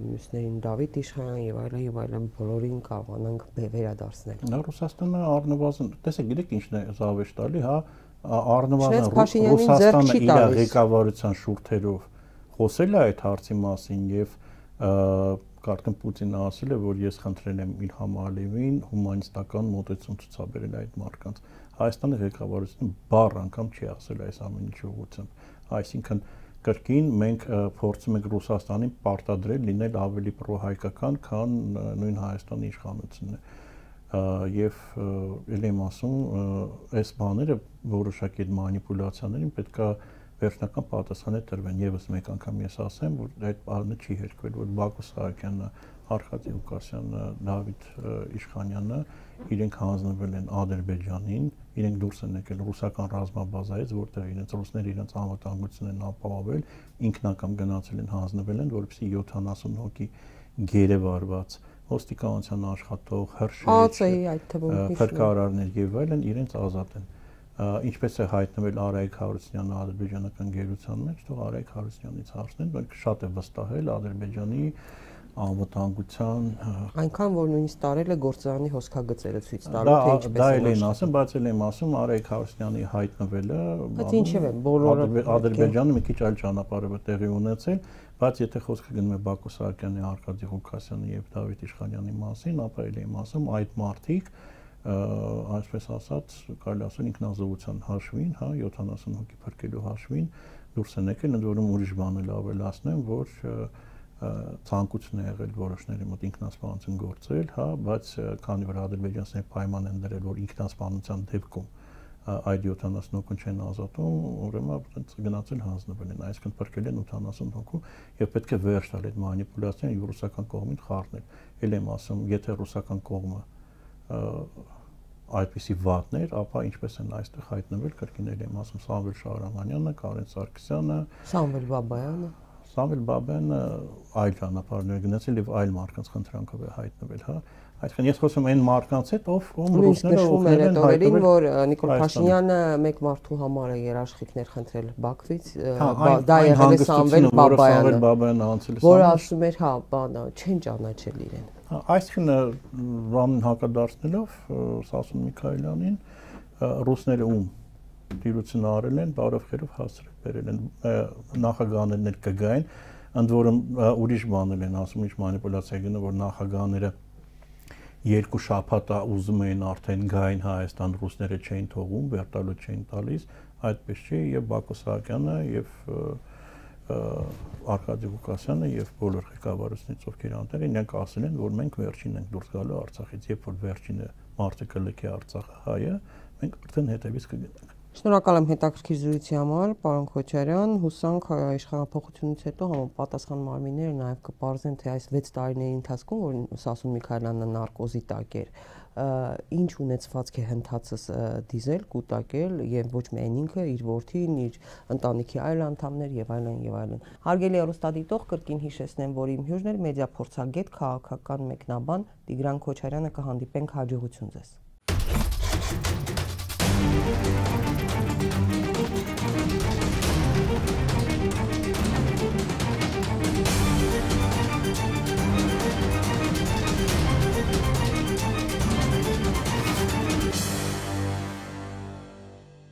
մյուսներին Դավիթ Իշխանյան եւ այլն եւ այլն բոլորին կարողանանք վերադարձնել։ Նա Ռուսաստանը առնվազն, տեսեք, գիտեք ինչն է զավեշտ տալի, հա, առնվազն Ռուսաստանը իր ղեկավարության շուրթերով խոսել է այդ հարցի մասին եւ Կարծեմ Պուտինը ասել է, որ ես խնդրել եմ Իլհամ Ալիևին հումանիստական մոտեցում ցուցաբերել այդ մարդկանց։ Հայաստանի ղեկավարությունը բառ անգամ չի ասել այս ամեն ինչի ուղղությամբ։ Այսինքն կրկին մենք փորձում ենք Ռուսաստանին պարտադրել լինել ավելի պրոհայկական, քան նույն Հայաստանի իշխանությունը։ Եվ ել եմ ասում, այս բաները որոշակի մանիպուլյացիաներին պետքա վերջնական պատասխանը տրվեն եւս մեկ անգամ ես ասեմ որ այդ բանը չի երկվել որ Բակո Սահակյանը, Արկադի Ղուկասյանը, Դավիթ Իշխանյանը իրենք հանձնվել են Ադրբեջանին, իրենք դուրս են եկել ռուսական ռազմաբազայից, որտեղ իրենց ռուսները իրենց անվտանգությունն են ապահովել, ինքնակամ գնացել են հանձնվել են, որովհետեւ յոթանասուն հոգի գերեվարված ոստիկանության աշխատող, հրշեջ, փրկարարներ եւ այլն իրենց ազատ են։ Ինչպես է հայտնվել Արայիկ Հարությունյանը ադրբեջանական գերության մեջ, թող Արայիկ Հարությունյանից հարցնեն, բայց շատ է վստահել Ադրբեջանի անվտանգության այնքան որ նույնիսկ տարել է գործարանի հոսքագծերը ցույց տալու թե ինչպես է։ Դա էլ են ասում, բայց էլ եմ ասում Արայիկ Հարությունյանի հայտնվելը, բայց ինչև է բոլորը Ադրբեջանը մի քիչ այլ ճանապարհ է տեղի ունեցել, բայց եթե խոսքը գնում է Բակո Սահակյանի, Արկադի Ղուկասյանի եւ Դավիթ Իշխանյանի մասին, ապա էլ եմ ասում այդ մարդիկ այսպես ասած կարելի ասել ինքնազոհության հաշվին, հա, յոթանասուն հոգի փրկելու հաշվին դուրս են եկել, ընդ որում ուրիշ բան էլ ավելացնեմ, որ ցանկություն է եղել որոշների մոտ ինքնասպանություն գործել, հա, բայց քանի որ ադրբեջանցիները պայման են դրել, որ ինքնասպանության դեպքում այդ յոթանասուն հոգուն չեն ազատում, ուրեմն այդպես գնացել հանձնվել են, այսինքն փրկել են ութանասուն հոգու եւ պետք է վերջ տալ այդ մանիպուլյացիան ռուսական կողմին խառնել։ Էլ եմ ասում, եթե ռուսական կողմը այդպիսի վատներ, ապա ինչպես են այստեղ հայտնվել կրկինել եմ ասում Սամվել Շահրամանյանը, Կարեն Սարգսյանը, Սամվել Բաբայանը, Սամվել Բաբայանը այլ ճանապարհներ գնացել եւ այլ մարդկանց խնդրանքով է հայտնվել, հա։ Այսինքն ես խոսում եմ այն մարդկանց հետ, ով ում ռուսները օգնել են հայտնվել, որ Նիկոլ Փաշինյանը մեկ մարդու համար է երաշխիքներ խնդրել Բաքվից, դա եղել է Սամվել Բաբայանը, որ ասում էր, հա, բանը չեն ճանաչել իրեն։ Այսինքն բանին հակադարձնելով Սասուն Միքայելյանին ռուսները ում դիրություն արել են, բարով խերով հասցրել բերել են նախագահներն էլ կգային, ընդ որում ուրիշ բաներ են ասում, ինչ մանիպուլյացիա գնա, որ նախագահները երկու շաբաթ ուզում էին արդեն գային Հայաստան, ռուսները չէին թողում, վերտալու չէին տալիս, այդպես չի եւ Բակո Սահակյանը եւ Արկադի Ղուկասյանը եւ բոլոր ղեկավարությունից ովքեր անտեր են, նրանք ասել են, որ մենք վերջինն ենք դուրս գալու Արցախից, երբ որ վերջինը մարդը կլքի Արցախը հայը, մենք արդեն հետևից կգնանք։ Շնորհակալ եմ հետաքրքիր զրույցի համար, պարոն Քոչարյան, հուսանք իշխանապողությունից հետո համապատասխան մարմինները նաև կպարզեն, թե այս վեց տարիների ընթացքում, որ Սասուն Միքայելյանը նարկոզի տակ էր, ինչ ունեցվածք է հնդածս դիզել, կուտակել եւ ոչ միայն ինքը, իր որդին, իր ընտանիքի այլ անդամներ եւ այլն եւ այլն։ Հարգելի հեռուստադիտող, կրկին հիշեցնեմ, որ իմ հյուրն էր մեդիա փորձագետ, քաղաքական մեկնաբան Տիգրան Քոչարյանը, կհանդիպենք հաջողություն ձեզ։